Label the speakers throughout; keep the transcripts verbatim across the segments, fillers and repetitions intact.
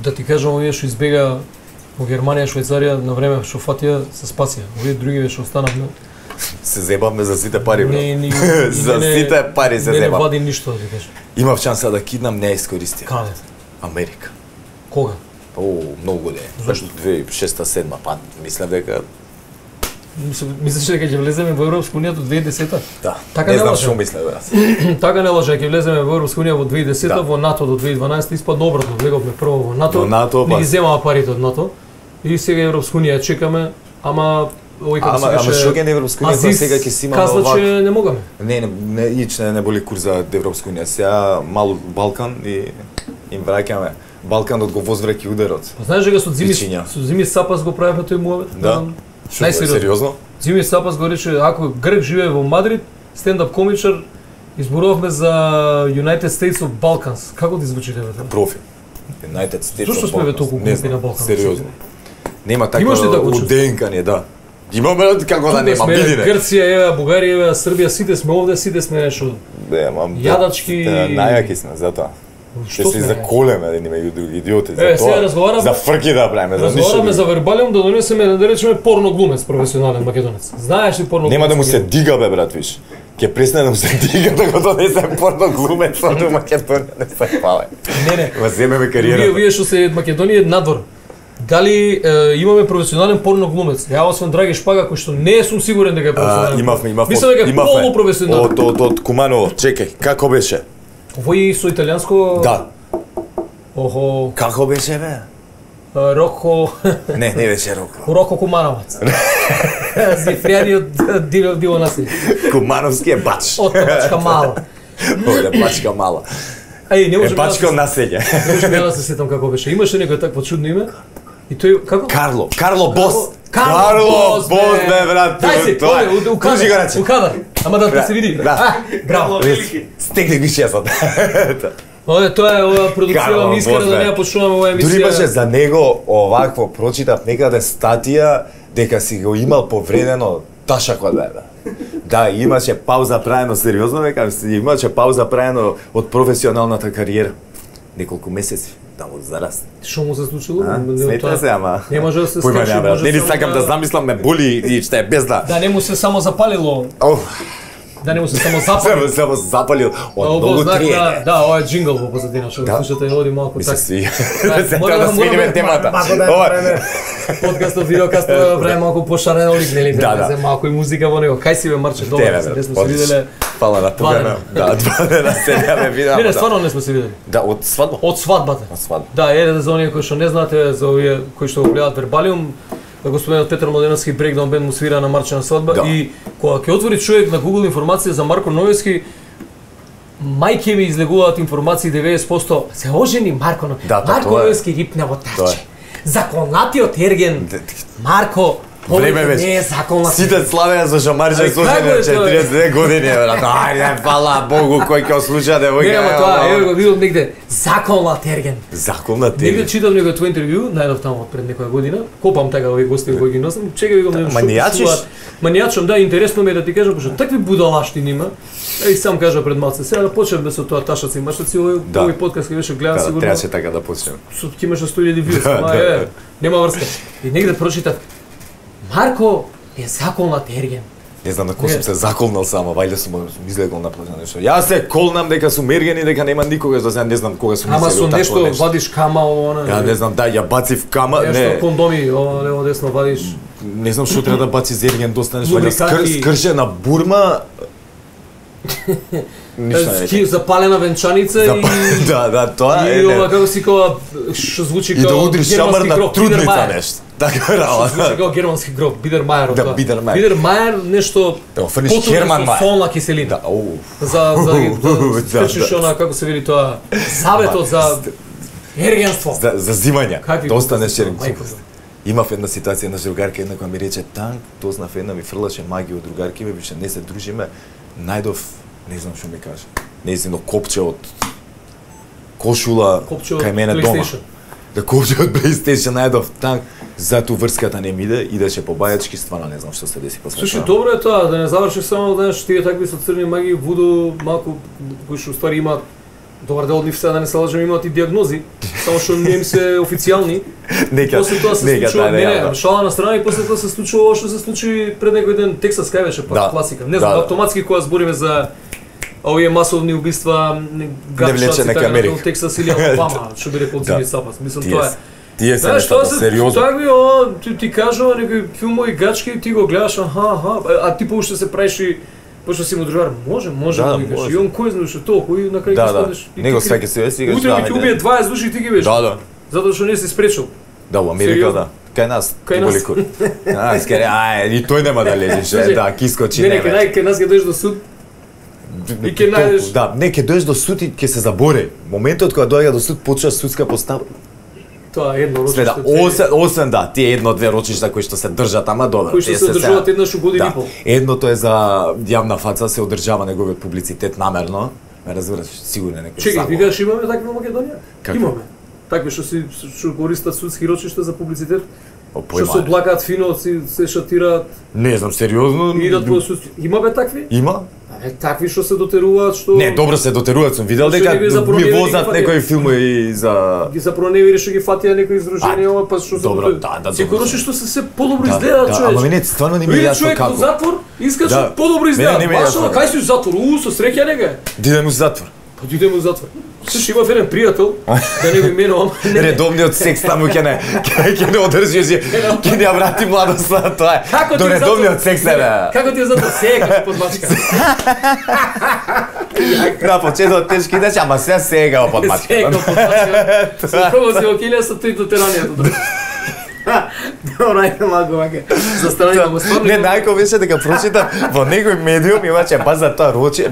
Speaker 1: да ти кажам, овие што избега во Германија, Швајцарија, на време што фатија се спасија. Овие други што останавме.
Speaker 2: Се зебавме за сите пари, бро.
Speaker 1: Не, ни,
Speaker 2: за
Speaker 1: не,
Speaker 2: сите пари се
Speaker 1: не,
Speaker 2: зебам.
Speaker 1: Не вади ништо, да ти кажам.
Speaker 2: Имав шанса да киднам, не искористив.
Speaker 1: Каде?
Speaker 2: Америка.
Speaker 1: Кога?
Speaker 2: О, многу години.
Speaker 1: Зашто?
Speaker 2: две тисячи и шеста седма, па мислев дека
Speaker 1: Мислиш дека ќе влеземе во Европска унија до две илјади и десета?
Speaker 2: да.
Speaker 1: Така
Speaker 2: не
Speaker 1: не
Speaker 2: знам
Speaker 1: лаже.
Speaker 2: што мислев јас.
Speaker 1: Така не лаже, ќе влеземе во Европска унија во две илјади и десета,
Speaker 2: Да.
Speaker 1: во НАТО до две илјади и дванаесета, испадна обратно, влеговме прво во НАТО.
Speaker 2: Во НАТО,
Speaker 1: не
Speaker 2: па-
Speaker 1: ги земаа парите од НАТО. И сега Европска унија чекаме, ама овој како
Speaker 2: Ама,
Speaker 1: се
Speaker 2: ама
Speaker 1: беше.
Speaker 2: што ќе на Европска унија, кога сега ќе си имаме
Speaker 1: каза
Speaker 2: овак.
Speaker 1: че не могаме.
Speaker 2: Не, не, не, ич не, не боли курс за Европска унија. Сега мал Балкан и им враќаме. Балканот го возвраќа ударот.
Speaker 1: Па знаеш дека со Зими
Speaker 2: Вичиња.
Speaker 1: со Зими Сапас го правевме тој муавет?
Speaker 2: Да. Што,
Speaker 1: Најсериозно.
Speaker 2: сериозно?
Speaker 1: Зими Сапас го рече, ако Грк живее во Мадрид, стендап комичар, изборувавме за United States of Balkans. Како ти звучи тебе тоа?
Speaker 2: Профи. United States
Speaker 1: Зошто
Speaker 2: of
Speaker 1: сме бе
Speaker 2: Balkans.
Speaker 1: толку
Speaker 2: Не
Speaker 1: глупи
Speaker 2: знам,
Speaker 1: на Балкан?
Speaker 2: Сериозно. Нема така
Speaker 1: Имаш ли такво
Speaker 2: у
Speaker 1: чувство?
Speaker 2: ДНК ни, да. Имаме како да
Speaker 1: Тука
Speaker 2: нема,
Speaker 1: сме
Speaker 2: биди не.
Speaker 1: Грција, еве, Бугарија, еве, Србија, сите сме овде, сите сме нешто.
Speaker 2: Да, мам.
Speaker 1: Јадачки-
Speaker 2: Да, најаки сме затоа. Што
Speaker 1: Што
Speaker 2: се
Speaker 1: сме?
Speaker 2: заколеме едни меѓу други идиоти за
Speaker 1: Е,
Speaker 2: тоа.
Speaker 1: сега разговараме-
Speaker 2: За фрки да правиме, за ништо.
Speaker 1: Разговараме за
Speaker 2: друго.
Speaker 1: вербалиум да донесеме да речеме порно глумец професионален македонец. Знаеш ли порно
Speaker 2: Нема да му
Speaker 1: глумец?
Speaker 2: се дига бе брат, виш. Ќе престане да му се дига да го донесе порно глумец од Македонија, не се пале.
Speaker 1: Не, не.
Speaker 2: Ма земеме
Speaker 1: Вие,
Speaker 2: кариерата.
Speaker 1: вие што се од Македонија надвор. Дали е, имаме професионален порно глумец? Ја освен Драги Шпага кој што не сум сигурен дека е
Speaker 2: А,
Speaker 1: професионален.
Speaker 2: имавме, имавме.
Speaker 1: Мислам дека е
Speaker 2: имавме.
Speaker 1: полупрофесионален.
Speaker 2: Од од од Куманово, чекај, како беше?
Speaker 1: Овој со италијанско.
Speaker 2: Да.
Speaker 1: Охо,
Speaker 2: Како беше бе?
Speaker 1: а, Роко,
Speaker 2: Не, не беше Роко.
Speaker 1: Роко Кумановац. Зифријаниот диво диво населје.
Speaker 2: Кумановски е бач.
Speaker 1: Од Табачка мало.
Speaker 2: Овде бачка мала.
Speaker 1: Ај, не
Speaker 2: Е
Speaker 1: можам да
Speaker 2: бачко
Speaker 1: се-
Speaker 2: населје.
Speaker 1: не можам да се сетам како беше. Имаше некој такво чудно име? И тој како?
Speaker 2: Карло, Карло Бос.
Speaker 1: Карло Бос,
Speaker 2: Бос, бе, брат.
Speaker 1: Дај се,
Speaker 2: тоа е.
Speaker 1: тој, у
Speaker 2: Кружи го
Speaker 1: кадар,
Speaker 2: рече.
Speaker 1: у кадар. Ама да
Speaker 2: Да,
Speaker 1: се види.
Speaker 2: да.
Speaker 1: А, браво.
Speaker 2: Стегни ги шесот.
Speaker 1: Ове тоа е ова продуција
Speaker 2: Карло
Speaker 1: ми искрено
Speaker 2: Бос,
Speaker 1: да
Speaker 2: бе.
Speaker 1: не ја почнуваме оваа емисија.
Speaker 2: Дури имаше за него овакво, прочитав некаде статија дека си го имал повредено ташакот бе. Да, имаше пауза правено сериозно, века, имаше пауза правено од професионалната кариера. Неколку месеци да му зарасне.
Speaker 1: Што му се случило?
Speaker 2: А,
Speaker 1: Не,
Speaker 2: смета
Speaker 1: тоа-
Speaker 2: се, ама.
Speaker 1: Не може да се
Speaker 2: Појма
Speaker 1: скачи,
Speaker 2: нема,
Speaker 1: може
Speaker 2: не ни
Speaker 1: само
Speaker 2: сакам да замислам, ме боли и што е без да.
Speaker 1: Да не му се само запалило,
Speaker 2: Оф,
Speaker 1: да не му се само
Speaker 2: само
Speaker 1: запали.
Speaker 2: само запалил од
Speaker 1: Ово
Speaker 2: многу
Speaker 1: знак
Speaker 2: триење.
Speaker 1: на- Да, ова е джингл во позадина, што го
Speaker 2: Да.
Speaker 1: слушате, оди малку
Speaker 2: Ми се
Speaker 1: така.
Speaker 2: свија.
Speaker 1: Да,
Speaker 2: Да се
Speaker 1: мора
Speaker 2: треба да
Speaker 1: да- мора
Speaker 2: смениме
Speaker 1: да-
Speaker 2: темата.
Speaker 1: малку да
Speaker 2: Ова
Speaker 1: направиме подкастот, видеокастот да направиме малку пошарен олик, нели?
Speaker 2: Да, да.
Speaker 1: Да, малку и музика во него. Кај си бе Марче, добро,
Speaker 2: Тебе,
Speaker 1: се,
Speaker 2: бе,
Speaker 1: не сме се
Speaker 2: одлично.
Speaker 1: виделе.
Speaker 2: Фала на
Speaker 1: Два
Speaker 2: тука.
Speaker 1: дена.
Speaker 2: Да, два дена се ме видам.
Speaker 1: Не, не,
Speaker 2: да.
Speaker 1: стварно не сме се видели.
Speaker 2: Да, од свадба.
Speaker 1: Од свадбата.
Speaker 2: Од свадба.
Speaker 1: Да, е за оние кои што не знаете, за овие кои што го гледаат Вербалиум, господинот Петар Младеновски Брекдаун бенд му свира на Марче на свадба
Speaker 2: Да.
Speaker 1: и кога ќе отвори човек на Google информација за Марко Новиски, мајке ми излегуваат информации деветдесет проценти се ожени Марко Новиски.
Speaker 2: Да, па,
Speaker 1: Марко
Speaker 2: тоа е.
Speaker 1: Новиски рипна во
Speaker 2: Тоа
Speaker 1: тарче.
Speaker 2: е.
Speaker 1: Законатиот ерген Марко
Speaker 2: Време
Speaker 1: повеќе
Speaker 2: беше.
Speaker 1: не е законат.
Speaker 2: Сите славеа за Шамарџа
Speaker 1: Ај,
Speaker 2: слушање
Speaker 1: како е тоа?
Speaker 2: четириесет две години, брат. Ајде, фала Богу кој ќе ослуша да
Speaker 1: Не, ама тоа, еве го видов негде законат ерген.
Speaker 2: Закон на
Speaker 1: Негде
Speaker 2: тебе.
Speaker 1: читам некој твој интервју, најдов таму пред некоја година. Копам така овие гости кои ги носам. Чекај ви го да
Speaker 2: манијачиш?
Speaker 1: Манијачам, да, интересно ми е да ти кажам, пошто такви будалаштини има. Еј сам кажа пред малце. Сега да почнеме со тоа ташаци, машаци, овој
Speaker 2: Да.
Speaker 1: овој подкаст кој беше гледан
Speaker 2: Да,
Speaker 1: сигурно.
Speaker 2: требаше така да почнеме.
Speaker 1: Со ќе имаше сто илјади вјуз,
Speaker 2: Да,
Speaker 1: ама
Speaker 2: да,
Speaker 1: е,
Speaker 2: да.
Speaker 1: нема врска. И негде прочитав Марко е законат ерген.
Speaker 2: Не знам на кој
Speaker 1: Не.
Speaker 2: сум се заколнал само, вајде сум излегол на плажа нешто. Јас се колнам дека сум ерген и дека нема никогаш да се не знам кога сум
Speaker 1: Ама
Speaker 2: мислел
Speaker 1: со
Speaker 2: такво
Speaker 1: нешто вадиш кама, она.
Speaker 2: Ја не знам, да, ја бацив кама,
Speaker 1: Нешто
Speaker 2: не.
Speaker 1: кондоми, ова лево десно вадиш.
Speaker 2: Не знам што треба да баци за ерген, достанеш вајде
Speaker 1: Лубриканти.
Speaker 2: скр, скршена бурма. Ништо не
Speaker 1: Ски запалена венчаница
Speaker 2: Запа-
Speaker 1: и
Speaker 2: Да, да, тоа е.
Speaker 1: и ова
Speaker 2: не.
Speaker 1: како си кога што звучи
Speaker 2: И да
Speaker 1: како
Speaker 2: удриш шамар
Speaker 1: германски
Speaker 2: на
Speaker 1: гроб,
Speaker 2: трудница
Speaker 1: Бидермајер.
Speaker 2: нешто. Така
Speaker 1: Што
Speaker 2: работа.
Speaker 1: звучи како германски гроб, Бидермајер.
Speaker 2: Да,
Speaker 1: тоа.
Speaker 2: Бидермајер.
Speaker 1: Бидермајер нешто
Speaker 2: Да го фрниш
Speaker 1: потрудно
Speaker 2: Херман
Speaker 1: со
Speaker 2: Мајер.
Speaker 1: солна киселина.
Speaker 2: Да, оу.
Speaker 1: За за
Speaker 2: Да,
Speaker 1: да скрчиш
Speaker 2: да.
Speaker 1: она како се вели тоа заветот за ергенство.
Speaker 2: За за зимање.
Speaker 1: Какви
Speaker 2: Да останеш
Speaker 1: глупости,
Speaker 2: ерген.
Speaker 1: мајко.
Speaker 2: Имав една ситуација една другарка една која ми рече танк, дознав една ми фрлаше магија од другарки ми, више не се дружиме, најдов, не знам што ми каже. Нејзино копче од кошула
Speaker 1: Копче од
Speaker 2: кај мене дома.
Speaker 1: PlayStation.
Speaker 2: Да копче од PlayStation најдов танк, затоа врската не ми иде, идеше по бајачки, стварно не знам што се деси после
Speaker 1: Слушај,
Speaker 2: тоа.
Speaker 1: добро е тоа, да не завршиш само, знаеш, тие такви со црни маги, вуду, малку, кои што ствари имаат Добар дел од нив сега да не се лажем имаат и диагнози, само што не им се официјални.
Speaker 2: Нека,
Speaker 1: После тоа се
Speaker 2: нека,
Speaker 1: случува,
Speaker 2: да,
Speaker 1: не,
Speaker 2: да,
Speaker 1: не, шала на страна и после тоа се случува ова што се случи пред некој ден Тексас кај беше, па
Speaker 2: Да.
Speaker 1: класика. Не знам,
Speaker 2: Да, да.
Speaker 1: автоматски кога збориме за овие масовни убиства, гатшаци
Speaker 2: нека
Speaker 1: така
Speaker 2: Америка.
Speaker 1: на Тексас или Алабама, што би рекол Цини Сапас. Мислам
Speaker 2: Тие
Speaker 1: тоа е.
Speaker 2: се- Тие се
Speaker 1: Знаеш, тоа
Speaker 2: нештата,
Speaker 1: се
Speaker 2: сериозно.
Speaker 1: такви, о, ти, ти кажува некои филмови гачки, ти го гледаш, аха, аха, а ти поуште се правиш и пошто си му дружар, може, може,
Speaker 2: Да,
Speaker 1: да, викаш,
Speaker 2: може.
Speaker 1: и он кој знае што толку, и на крај
Speaker 2: Да,
Speaker 1: ги
Speaker 2: да.
Speaker 1: станеш. и
Speaker 2: Него
Speaker 1: ти
Speaker 2: свеќе се си
Speaker 1: Утре ми ти убие дваесет души и ти ги беше.
Speaker 2: Да, да.
Speaker 1: Затоа што не си спречил.
Speaker 2: Да, во Америка
Speaker 1: Сериозно?
Speaker 2: да. Кај нас,
Speaker 1: Кај
Speaker 2: ти
Speaker 1: нас.
Speaker 2: голико. А, скаре, ај, и тој нема да лежиш, е,
Speaker 1: Слушај,
Speaker 2: да, ки скочи
Speaker 1: Не, не,
Speaker 2: не.
Speaker 1: кај нај- кај нас ќе дојдеш до суд, и ќе најдеш-
Speaker 2: Да, не, ќе дојдеш до суд и ќе се забори. Моментот кога доаѓа до суд почва судска постава.
Speaker 1: тоа е едно
Speaker 2: Све да,
Speaker 1: рочиште.
Speaker 2: осем, осем да, тие едно-две рочишта кои што се држат, ама добро.
Speaker 1: Кои што
Speaker 2: тие
Speaker 1: се одржуваат
Speaker 2: сега-
Speaker 1: еднаш у година и
Speaker 2: Да,
Speaker 1: пол.
Speaker 2: едното е за јавна фаца, се одржава неговиот публицитет намерно. Ме разбираш, сигурно е некој
Speaker 1: Чекај,
Speaker 2: заговор.
Speaker 1: викаш имаме такви во Македонија?
Speaker 2: Какви?
Speaker 1: Имаме. Такви што си што користат судски рочишта за публицитет,
Speaker 2: О,
Speaker 1: што се
Speaker 2: појма.
Speaker 1: облакаат фино, си се шатираат,
Speaker 2: Не знам, сериозно.
Speaker 1: и идат по судски. Има бе такви?
Speaker 2: Има?
Speaker 1: Абе, такви што се дотеруваат, што
Speaker 2: Не, добро се дотеруваат, сум видел
Speaker 1: Што
Speaker 2: дека
Speaker 1: не би
Speaker 2: ми
Speaker 1: запроневили
Speaker 2: возат
Speaker 1: ги
Speaker 2: некои филмови за
Speaker 1: ги запроневири што ги фатија некои издружени,
Speaker 2: А,
Speaker 1: ова па што се
Speaker 2: добро,
Speaker 1: дотер-
Speaker 2: да, да,
Speaker 1: Секој
Speaker 2: добро.
Speaker 1: рочишто се се подобро
Speaker 2: Да,
Speaker 1: изгледа,
Speaker 2: да,
Speaker 1: човече.
Speaker 2: ама мене стварно не ми е
Speaker 1: Види
Speaker 2: јасно
Speaker 1: човек во
Speaker 2: како.
Speaker 1: затвор, искаш
Speaker 2: Да.
Speaker 1: подобро
Speaker 2: Мене
Speaker 1: изгледа.
Speaker 2: не ми е
Speaker 1: Баш
Speaker 2: јасно.
Speaker 1: ова, кај си у затвор? У, со среќа нега.
Speaker 2: Да идем у затвор.
Speaker 1: Па ти идеме у затвор. Слушай, имав еден пријател, да не го именувам. Не, не.
Speaker 2: Редовниот секс таму ќе не ќе ќе не одржиш, ќе не ја врати младоста, тоа е.
Speaker 1: Како ти
Speaker 2: До
Speaker 1: е затвор?
Speaker 2: редовниот секс е. бе.
Speaker 1: Како ти е затвор? Сега под мачка.
Speaker 2: На почетот тешки идеш, ама се сега во подмачка.
Speaker 1: Сега под мачка. Се пробо си окилија со тој дотеранијата. Добро, ајде малку вака. За страни да го стварно.
Speaker 2: Не, најко беше дека прочитав во некој медиум имаше баш за тоа роче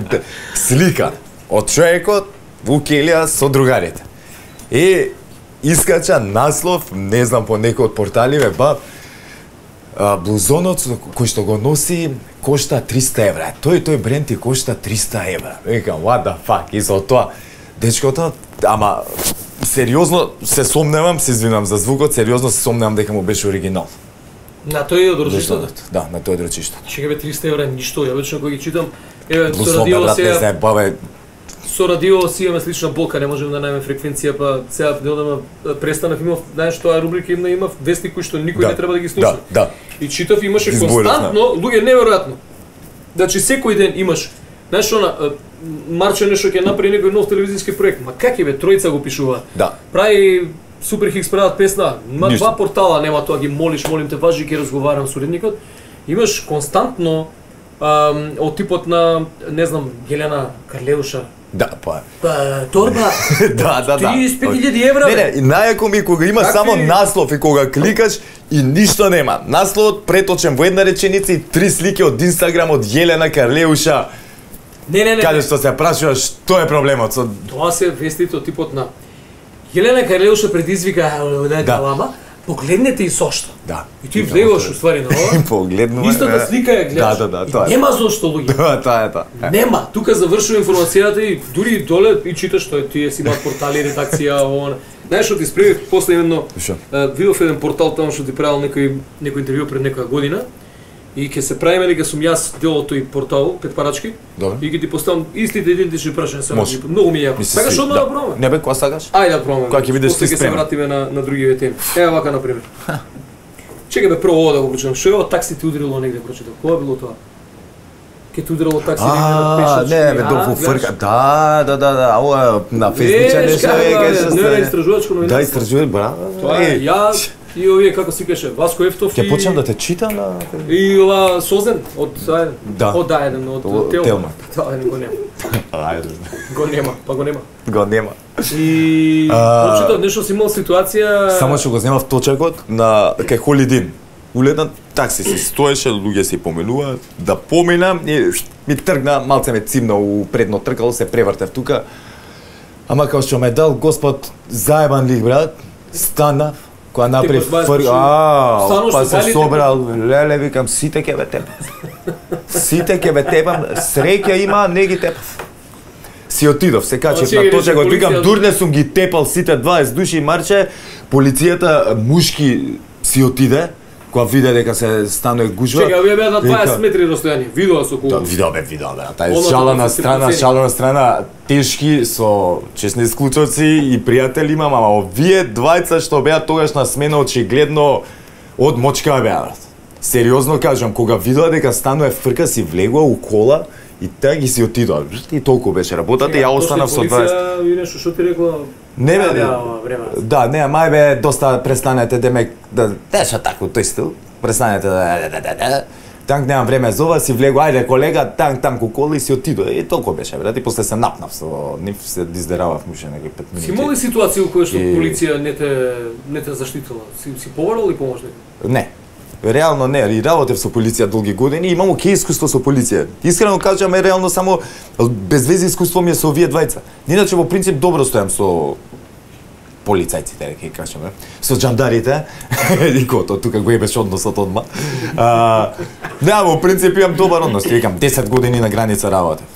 Speaker 2: слика од човекот во келија со другарите. И искача наслов, не знам по некој од порталиве, ба а, блузонот со- кој што го носи кошта триста евра. Тој тој бренд ти кошта триста евра. Викам, what the fuck, и со тоа дечкото, ама сериозно се сомневам, се извинам за звукот, сериозно се сомневам дека му беше оригинал.
Speaker 1: На тој од рочиштото.
Speaker 2: Блузонот, да, на тој рочишто.
Speaker 1: Чека бе триста евра ништо, ја вечно кога ги читам, еве со
Speaker 2: Блузон,
Speaker 1: радио
Speaker 2: брат, не
Speaker 1: сега,
Speaker 2: знае, бабе,
Speaker 1: со радио си имаме слична болка, не можеме да најдеме фреквенција, па сега одама престанав, имав, знаеш тоа рубрика има имав вести кои што никој
Speaker 2: Да,
Speaker 1: не треба да ги слуша.
Speaker 2: да, да.
Speaker 1: И читав имаше
Speaker 2: Изборот,
Speaker 1: константно, луѓе неверојатно. Значи секој ден имаш, знаеш она, е, Марче нешто ќе направи некој нов телевизиски проект, ма как е бе, тројца го пишува.
Speaker 2: Да.
Speaker 1: Прави Супер Хикс прават песна, има
Speaker 2: Ништо.
Speaker 1: два портала, нема тоа, ги молиш, молим те, важи ќе разговарам со уредникот. Имаш константно ам, од типот на, не знам, Гелена Карлеуша.
Speaker 2: Да, па.
Speaker 1: Па, торба,
Speaker 2: Да, да, да.
Speaker 1: триесет и пет илјади евра,
Speaker 2: Не,
Speaker 1: бе.
Speaker 2: не, и најако ми е кога има
Speaker 1: Какви-
Speaker 2: само наслов и кога кликаш и ништо нема. Насловот преточен во една реченица и три слики од Инстаграм од Јелена Карлеуша,
Speaker 1: Не, не, не.
Speaker 2: каде
Speaker 1: не.
Speaker 2: што се прашуваш што е проблемот со
Speaker 1: Тоа се вестите од типот на Елена Карлеуша предизвика да.
Speaker 2: Да.
Speaker 1: лама, погледнете и сошто.
Speaker 2: Да.
Speaker 1: И ти влегуваш уствари на ова.
Speaker 2: Погледнува.
Speaker 1: Истата слика ја гледаш.
Speaker 2: Да, да, да,
Speaker 1: И
Speaker 2: тоа е.
Speaker 1: нема зошто луѓе.
Speaker 2: Тоа, тоа е тоа. Е.
Speaker 1: Нема. Тука завршува информацијата и дури доле и читаш што е тие си имаат портали, редакција, ова. Знаеш што ти спремив после едно
Speaker 2: Шо?
Speaker 1: е, видов еден портал таму што ти правил некој некој интервју пред некоја година. И ќе се правиме дека сум јас дел од тој портал, пет парачки.
Speaker 2: Добро.
Speaker 1: И ќе ти поставам истите идентични прашања само.
Speaker 2: Може.
Speaker 1: Многу ми е јако.
Speaker 2: Ми се
Speaker 1: Сакаш
Speaker 2: сви-
Speaker 1: одма да пробаме?
Speaker 2: Не бе, кога сакаш?
Speaker 1: Ајде да пробаме.
Speaker 2: Кога ќе видиш
Speaker 1: После
Speaker 2: ти
Speaker 1: ќе се
Speaker 2: спремен.
Speaker 1: вратиме на на другиве теми. Ева вака на пример. Чекај бе прво ова да го прочитам. Што е ова такси ти удрило негде прочитам? Кога било тоа? Ке ти удрило такси негде на
Speaker 2: А,
Speaker 1: пешачки?
Speaker 2: не, бе,
Speaker 1: А,
Speaker 2: до
Speaker 1: гледаш?
Speaker 2: фрка. Да, да, да, да, ова на фејсбук
Speaker 1: Веш
Speaker 2: нешто
Speaker 1: како
Speaker 2: е,
Speaker 1: е,
Speaker 2: кај
Speaker 1: не, не,
Speaker 2: што
Speaker 1: истражувачко
Speaker 2: Да,
Speaker 1: новинарство.
Speaker 2: истражувај, браво.
Speaker 1: Тоа е,
Speaker 2: Еј,
Speaker 1: ја и овие како си каже Васко Ефтов
Speaker 2: Ќе
Speaker 1: и
Speaker 2: почнам да те читам на
Speaker 1: и ова Созен од ајде,
Speaker 2: Да.
Speaker 1: од да еден од
Speaker 2: Од
Speaker 1: Телма.
Speaker 2: Телма.
Speaker 1: Да, еден го нема.
Speaker 2: Ајде.
Speaker 1: Го нема, па го нема.
Speaker 2: Го нема.
Speaker 1: И
Speaker 2: А,
Speaker 1: прочитав нешто си имал ситуација.
Speaker 2: Само што го земав точакот на кај Холидин. Уледен такси си стоеше, луѓе си поменуваат, да поминам и ми тргна, малце ме цимна у предно тркало, се превртев тука. Ама као што ме дал Господ заебан лик, брат, станав, кога направи
Speaker 1: го знаеш,
Speaker 2: фр...
Speaker 1: што-
Speaker 2: Ау,
Speaker 1: стануваш
Speaker 2: па
Speaker 1: со
Speaker 2: се
Speaker 1: балите,
Speaker 2: собрал, леле, викам, сите ќе ве тепам. Сите ќе ве тепам, среќа има, не ги тепав. Си отидов, се качив
Speaker 1: си
Speaker 2: на
Speaker 1: ги рече
Speaker 2: точакот, викам,
Speaker 1: полиција-
Speaker 2: дурне сум ги тепал сите дваесет души, марче, полицијата мушки си отиде, кога виде дека се станува гужва.
Speaker 1: Чека, вие беа на дваесет метри растојание. Видоа со колку.
Speaker 2: Да, видео бе, видео бе. Тај
Speaker 1: Оно
Speaker 2: шалена
Speaker 1: се
Speaker 2: страна,
Speaker 1: процени.
Speaker 2: шалена страна, тешки со честни склучоци и пријатели имам, ама овие двајца што беа тогаш на смена очигледно од мочка беа. Сериозно кажам, кога видоа дека станува фрка, си влегува у кола и таа ги си отидоа. И толку беше работата и ја останав со дваесет.
Speaker 1: Полиција и нешто што ти рекла.
Speaker 2: Не бе,
Speaker 1: да, време.
Speaker 2: да, не, мај бе, доста престанете демек да деша тако тој стил. Престанете да да да да. Танк немам време за ова, си влегу, ајде колега, танк танк у кола и си отидоа. И толку беше, брат, и после се напнав со нив, се диздеравав муше некои пет минути.
Speaker 1: Си имал ли ситуација у која што
Speaker 2: И-
Speaker 1: полиција не те не те заштитила? Си си побарал или поможник?
Speaker 2: Не. Реално не, и работев со полиција долги години, имам оке искуство со полиција. Искрено кажам, е реално само без вези искуство ми е со овие двајца. Иначе во принцип добро стојам со полицајците, ќе кажеме, со џандарите, и кото, тука го ебеш односот одма. А, да, во принцип имам добар однос, викам, десет години на граница работев.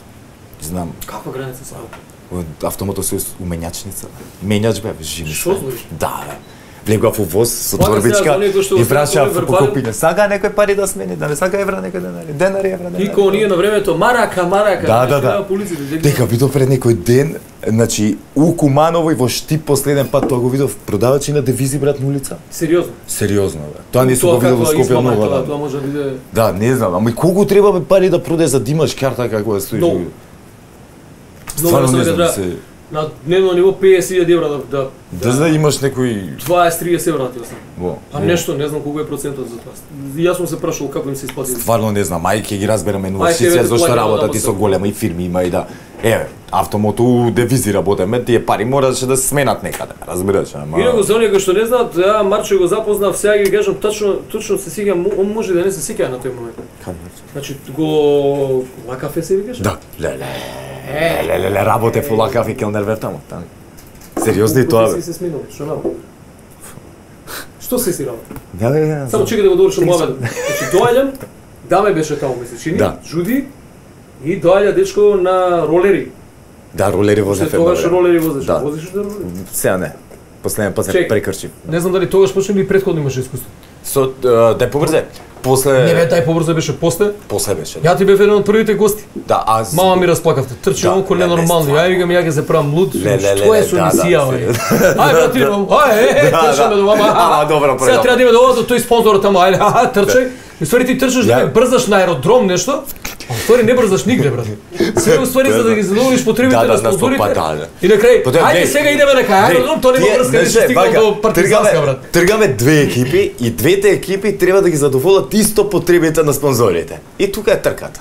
Speaker 2: Знам,
Speaker 1: Каква граница са?
Speaker 2: во автомотосојуз у менјачница. Менјач бе, живи.
Speaker 1: Што збориш?
Speaker 2: Да, бе. Влегував у воз со
Speaker 1: Слага се,
Speaker 2: торбичка
Speaker 1: за оние кои што
Speaker 2: и
Speaker 1: го
Speaker 2: прашав
Speaker 1: стават
Speaker 2: по
Speaker 1: вербален.
Speaker 2: копиње. Сага некој пари да смени, да не сага евра некој денари. Денари, евра, денари.
Speaker 1: И кога ние на времето марака, марака,
Speaker 2: Да,
Speaker 1: значи,
Speaker 2: да, да.
Speaker 1: нема полиција, дека-
Speaker 2: Дека видов пред некој ден, значи у Куманово и во Штип последен пат тоа го видов продавачи на девизи брат на улица.
Speaker 1: Сериозно.
Speaker 2: Сериозно бе. Тоа не сум го
Speaker 1: Тоа
Speaker 2: видел во
Speaker 1: каква
Speaker 2: Скопје
Speaker 1: измама е
Speaker 2: многу.
Speaker 1: тоа,
Speaker 2: да.
Speaker 1: тоа може да биде
Speaker 2: Да, не знам, ама и колку треба бе пари да продаде за да имаш карта како да стоиш.
Speaker 1: Многу.
Speaker 2: Стварно
Speaker 1: Многу
Speaker 2: не
Speaker 1: да
Speaker 2: знам,
Speaker 1: се
Speaker 2: се
Speaker 1: на дневно ниво петдесет илјади евра да да
Speaker 2: да да имаш некој
Speaker 1: дваесет триесет евра ти осам.
Speaker 2: во.
Speaker 1: А нешто, не знам колку е процентот за тоа. Јас сум се прашал како им се исплати.
Speaker 2: Стварно не знам, ај ќе ги разбереме
Speaker 1: Ај, ќе
Speaker 2: инвестиција
Speaker 1: вете
Speaker 2: зашто
Speaker 1: плаќаме
Speaker 2: работа
Speaker 1: одама
Speaker 2: ти
Speaker 1: се.
Speaker 2: со голема и фирми има и да. Еве, автомото у девизи работеме, тие пари мораше да се сменат некаде, разбираш, ама.
Speaker 1: Инаку за оние кои што не знаат, ја Марчо го запознав, сега ги кажам точно, точно се сеќам, он може да не се сеќа на тој момент. Значи го лакафе се викаш?
Speaker 2: Да, леле. Леле, леле, работев у Лакав и Келнер вер таму, таму. Сериозно и тоа бе.
Speaker 1: Си се сменил, што работа? Што се си работа?
Speaker 2: Да, бе, да.
Speaker 1: Само чекај да го довршам муабетот. Значи доаѓам, даме беше таму месечини,
Speaker 2: Да.
Speaker 1: Жуди и доаѓа дечко на ролери.
Speaker 2: Да, ролери
Speaker 1: Што
Speaker 2: возев
Speaker 1: тогаш
Speaker 2: едно време.
Speaker 1: ролери возиш?
Speaker 2: Да.
Speaker 1: Возиш да ролери?
Speaker 2: Сега не. Последен пат се
Speaker 1: Чек.
Speaker 2: прекрчив.
Speaker 1: Не знам дали тогаш почна или претходно имаше искуство.
Speaker 2: Со е, дај побрзе. После
Speaker 1: Не бе, тај побрзо беше после.
Speaker 2: после беше.
Speaker 1: Ја ти бев еден од првите гости.
Speaker 2: Да, аз
Speaker 1: Мама ми разплакавте. Трчи
Speaker 2: Да,
Speaker 1: онко
Speaker 2: леле,
Speaker 1: ненормално.
Speaker 2: стварно.
Speaker 1: Ја викам ја ќе се правам луд.
Speaker 2: Леле,
Speaker 1: Што е
Speaker 2: леле,
Speaker 1: со
Speaker 2: да,
Speaker 1: мисија,
Speaker 2: да,
Speaker 1: бе?
Speaker 2: се-
Speaker 1: Ај брат, идем. Ај, е, е,
Speaker 2: Да,
Speaker 1: трчаме
Speaker 2: да.
Speaker 1: до мама.
Speaker 2: Ама, добро,
Speaker 1: Сега
Speaker 2: добро.
Speaker 1: треба да име до овој тој спонзорот тamo. Ајде, аха, трчај. И ствари ти трчаш да
Speaker 2: Ја-
Speaker 1: ме брзаш на аеродром нешто. А ствари не брзаш нигде, брат. Све уствари за да ги задоволиш потребите
Speaker 2: Да, да,
Speaker 1: на
Speaker 2: на сто
Speaker 1: спонзорите.
Speaker 2: пат, да, да.
Speaker 1: И на крај,
Speaker 2: Потоа,
Speaker 1: ајде
Speaker 2: глеј,
Speaker 1: сега идеме на кај аеродром, тоа нема
Speaker 2: Тие,
Speaker 1: врска, не
Speaker 2: знаеш,
Speaker 1: стигнал
Speaker 2: вака,
Speaker 1: до партизанска,
Speaker 2: тргаме-
Speaker 1: брат.
Speaker 2: Тргаме две екипи и двете екипи треба да ги задоволат исто потребите на спонзорите. И тука е трката.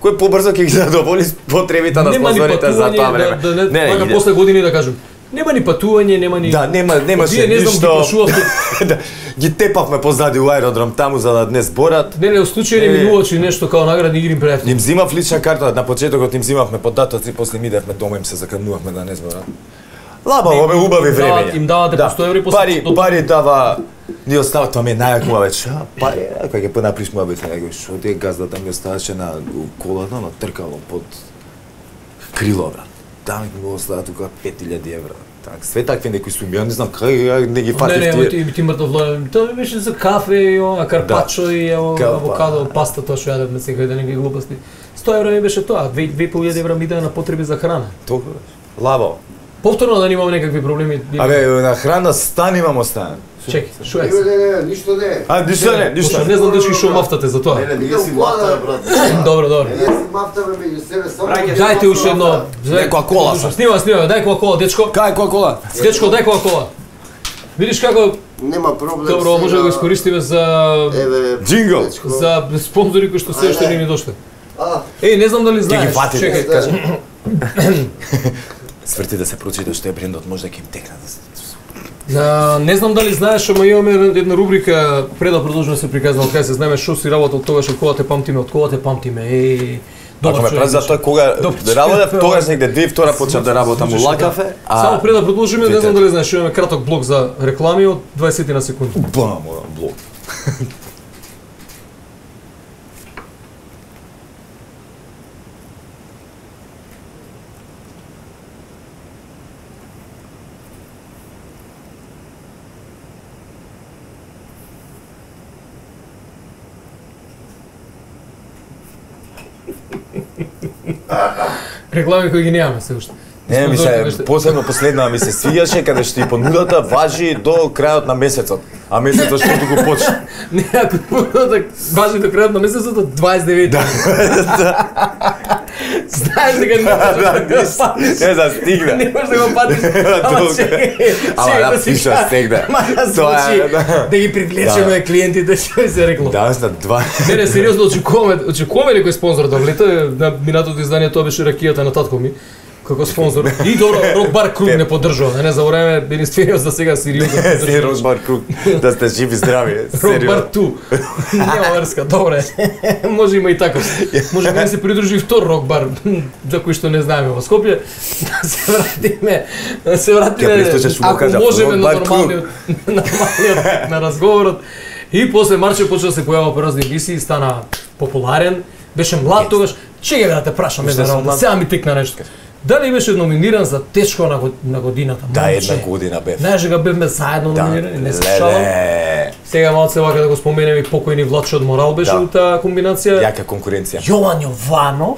Speaker 2: Кој побрзо ќе ги задоволи потребите на
Speaker 1: Нема ни
Speaker 2: спонзорите за тоа
Speaker 1: патување,
Speaker 2: време.
Speaker 1: да, да не, вака
Speaker 2: иде.
Speaker 1: после години да кажам. Нема ни патување, нема ни...
Speaker 2: Да, нема, немаше
Speaker 1: Вие не знам,
Speaker 2: ништо.
Speaker 1: ги плашувавте.
Speaker 2: Да, ги тепавме позади у аеродром таму за да не зборат.
Speaker 1: Не, не, у случај не
Speaker 2: Е.
Speaker 1: минувачи нешто као наградни игри им пријатели.
Speaker 2: Им зимав лична карта, на почетокот им зимавме податоци, после им идевме дома им се заканувавме да не зборат. Лабаво бе, убави
Speaker 1: дават-
Speaker 2: времења.
Speaker 1: им давате по сто еври, после
Speaker 2: Пари,
Speaker 1: до-
Speaker 2: пари дава, ни остава, тоа ми е најакува веќе. А, пари, а, кога ќе понаприш му бе, него што ти е газдата ми оставаше на у колата, на тркало под крило, брат. Таа ми го остава тука пет илјади евра. Так, све такви некои суми, ја не знам кај ја не ги
Speaker 1: Не,
Speaker 2: фатив
Speaker 1: не,
Speaker 2: тие.
Speaker 1: ти ти мртов лоен. Тоа ми беше за кафе и ова карпачо и ево
Speaker 2: Кафе.
Speaker 1: авокадо, паста тоа што јадевме сега да не ги глупости. сто евра ми беше тоа, две две и пол илјади евра ми даде на потреби за храна.
Speaker 2: Толку лабо.
Speaker 1: Повторно да немам некакви проблеми.
Speaker 2: Абе, на храна стан имам оставен.
Speaker 1: чекай, што е?
Speaker 3: Не, не, не, ништо не.
Speaker 2: А, ништо не, ништо.
Speaker 1: Пошто Не знам дечки што мафтате за тоа.
Speaker 4: Не, не, ние си мафта, брат.
Speaker 1: Добро, добро.
Speaker 3: Ние си мафтаме меѓу себе само.
Speaker 4: Браќе,
Speaker 1: Дајте уште едно.
Speaker 2: Не, кола сам.
Speaker 1: Снима, снима, дај кола, дечко.
Speaker 2: Кај која кола?
Speaker 1: Дечко, дај кола. Видиш како
Speaker 3: Нема проблем.
Speaker 1: добро може да го искористиме за
Speaker 3: Еве,
Speaker 2: Джингл.
Speaker 3: дечко.
Speaker 1: за спонзори кои што се уште не ни дошле.
Speaker 3: А,
Speaker 1: Еј, не знам дали
Speaker 2: Ќе ги
Speaker 1: знаеш.
Speaker 2: фатите.
Speaker 1: Чекај,
Speaker 2: кажи. Сврти да се прочита што е брендот, може да ќе им текне да се.
Speaker 1: А, не знам дали знаеш, ама имаме една рубрика пред да продолжиме се приказнал кај се знаеме што си работел тогаш од кога те памтиме, од кога те памтиме. Еј,
Speaker 2: Ако ме
Speaker 1: човек
Speaker 2: праз за
Speaker 1: беше.
Speaker 2: тоа кога
Speaker 1: Добар
Speaker 2: работев,
Speaker 1: човек,
Speaker 2: тогаш
Speaker 1: бе.
Speaker 2: негде две и втора почнав да работам у
Speaker 1: Звучеше,
Speaker 2: Лакафе,
Speaker 1: да. Само пред да продолжиме, не знам
Speaker 2: Видете.
Speaker 1: дали знаеш, имаме краток блок за реклами од дваесет на секунди.
Speaker 2: Бам, блок.
Speaker 1: реклами кои ги немаме се уште.
Speaker 2: Не, ми се, посебно последна ми се свиѓаше каде што и понудата важи до крајот на месецот, а месецот што го почне.
Speaker 1: Не, ако понудата важи до крајот на месецот од дваесет и девети. Знаеш дека не можеш да го патиш.
Speaker 2: Не застигна.
Speaker 1: Не можеш да го патиш. Ама чекај,
Speaker 2: Ама да пиша стегна.
Speaker 1: Тоа е да ги привлечеме клиентите, што се реклама.
Speaker 2: Да, на два.
Speaker 1: Не, не, сериозно очекуваме, очекуваме некој спонзор да влета. На минатото издание тоа беше ракијата на татко ми. Како спонзор. И добро, Рок Бар Круг не поддржува. Не, не забораваме Бенисфериос да сега сериозно.
Speaker 2: Се Рок Бар Круг. Да сте живи здрави.
Speaker 1: Рок Бар Ту. Нема врска, добре. Може има и така. Може да се придружи втор Рок Бар, за кој што не знаеме во Скопје. Да се вратиме, да се вратиме. Ако можеме на нормалниот, нормалниот на разговорот. И после Марче почна да се појавува по разни емисии, стана популарен, беше млад тогаш. Чега да те прашам една работа, сега ми текна нешто. Дали беше номиниран за тешко на, год, на годината?
Speaker 2: Да, една година бев.
Speaker 1: Знаеш дека бевме заедно
Speaker 2: да,
Speaker 1: номинирани, не се шалам. Сега малце вака да го споменем и покојни Владчо од Морал беше да. Таа комбинација.
Speaker 2: Јака конкуренција.
Speaker 1: Јован Јованов.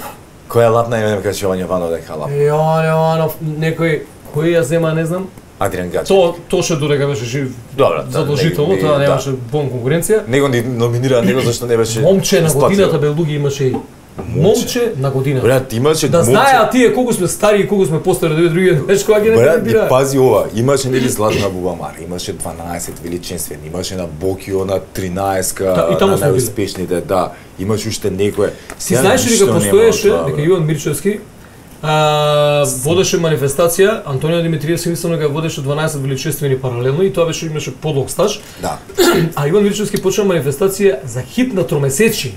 Speaker 2: Која лапна име каже Јован Јованов дека лап.
Speaker 1: Јован Јованов, некој кој ја зема, не знам.
Speaker 2: Адриан Гач.
Speaker 1: То тоше додека беше жив.
Speaker 2: Добро,
Speaker 1: задолжително, тоа немаше бон конкуренција.
Speaker 2: Него ни номинира него зашто не беше.
Speaker 1: Момче на годината бе луѓе имаше и Момче на годината.
Speaker 2: Брат, имаше
Speaker 1: да знаеа тие колку сме стари и колку сме постари да други знаеш кога ги не
Speaker 2: брат, и пази ова, имаше нели Златна Бубамар, имаше дванаесет величенствени, имаше на Бокио на тринаесетка,
Speaker 1: да, на
Speaker 2: најуспешните, да, имаше уште некое.
Speaker 1: Си знаеш ли дека постоеше дека Иван Мирчевски а, водеше манифестација, Антонио Димитриевски мислам дека водеше дванаесет величествени паралелно и тоа беше имаше подолг стаж.
Speaker 2: Да.
Speaker 1: А Иван Мирчевски почна манифестација за хит на тромесечи.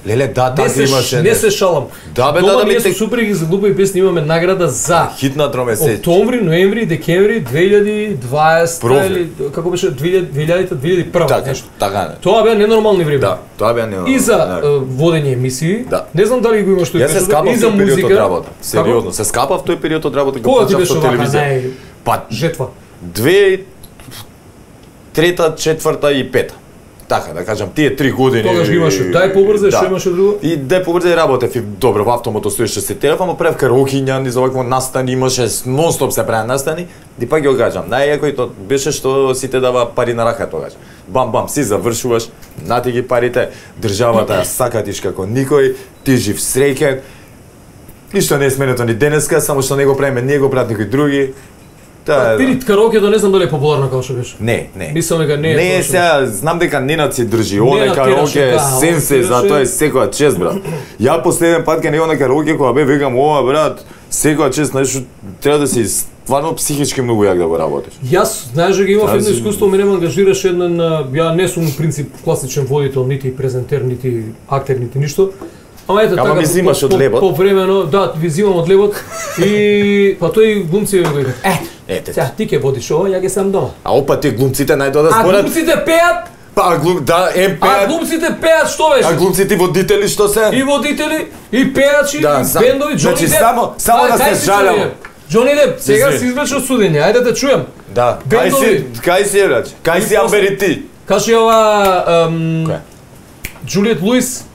Speaker 2: Леле, да, така имаше.
Speaker 1: Не се шалам.
Speaker 2: Да, бе, да, да,
Speaker 1: ми тек... супруги за глупи песни имаме награда за
Speaker 2: хит на тромесечи.
Speaker 1: Октомври, ноември, декември две илјади и дваесета или како беше две илјади две илјади и прва
Speaker 2: така,
Speaker 1: нешто.
Speaker 2: Така.
Speaker 1: Тоа беа ненормални време.
Speaker 2: Да, тоа беа ненормални.
Speaker 1: И за uh, водење емисии.
Speaker 2: Да.
Speaker 1: Не знам дали го имаш тој
Speaker 2: период. Јас се скапав тој период од работа. Сериозно, се скапав тој период од работа
Speaker 1: кога почнав со телевизија.
Speaker 2: Па
Speaker 1: жетва.
Speaker 2: Две трета, четврта и пета. Така, да кажам, тие три години.
Speaker 1: Тогаш имаше дај побрзе, што имаше друго?
Speaker 2: И дај побрзе работев и добро во автомото стоеше се телефон, правев караокиња, низ овакво настани, имаше нон-стоп се прави настани. И пак ќе го кажам, најјако и тоа беше што сите дава пари на рака тогаш. Бам бам, си завршуваш, нати ги парите, државата ја сакатиш како никој, ти жив среќен. Ништо не е сменето ни денеска, само што не го правиме ние, го прават некои други.
Speaker 1: Да, Пирит караокето не знам дали е популарно како што беше.
Speaker 2: Не, не.
Speaker 1: Мислам дека не е.
Speaker 2: Не, сега знам дека Ненад си држи. Оне караоке е сенсе, за тоа е секоја чест, брат. Ја последен пат кога него на караоке кога бе викам ова, брат, секоја чест, знаеш, треба да си стварно психички многу јак да го работиш.
Speaker 1: Јас знаеш дека имав едно искуство, ме нема ангажираше еден, ја не сум принцип класичен водител, нити презентер, нити актер, нити ништо. Ама ете така,
Speaker 2: ми зимаш од лебот.
Speaker 1: Повремено, да, ви зимам од лебот и па тој глумци го вика. Е, ете. Сега ти ќе водиш ова, ја ќе сам дома.
Speaker 2: А опа ти глумците најдоа да зборат.
Speaker 1: А глумците пеат?
Speaker 2: Па глум, да, ем пеат.
Speaker 1: А глумците пеат што беше?
Speaker 2: А глумците водители што се?
Speaker 1: И водители, и пеачи,
Speaker 2: да,
Speaker 1: и бендови, Џони
Speaker 2: значи,
Speaker 1: Деп.
Speaker 2: само, само да се жалам.
Speaker 1: Џони Деп, сега се извлече од судење, ајде да чујам.
Speaker 2: Да, кај си, кај си браќ? Кај си Амбери ти?
Speaker 1: Кажи ова, Џулиет Луис.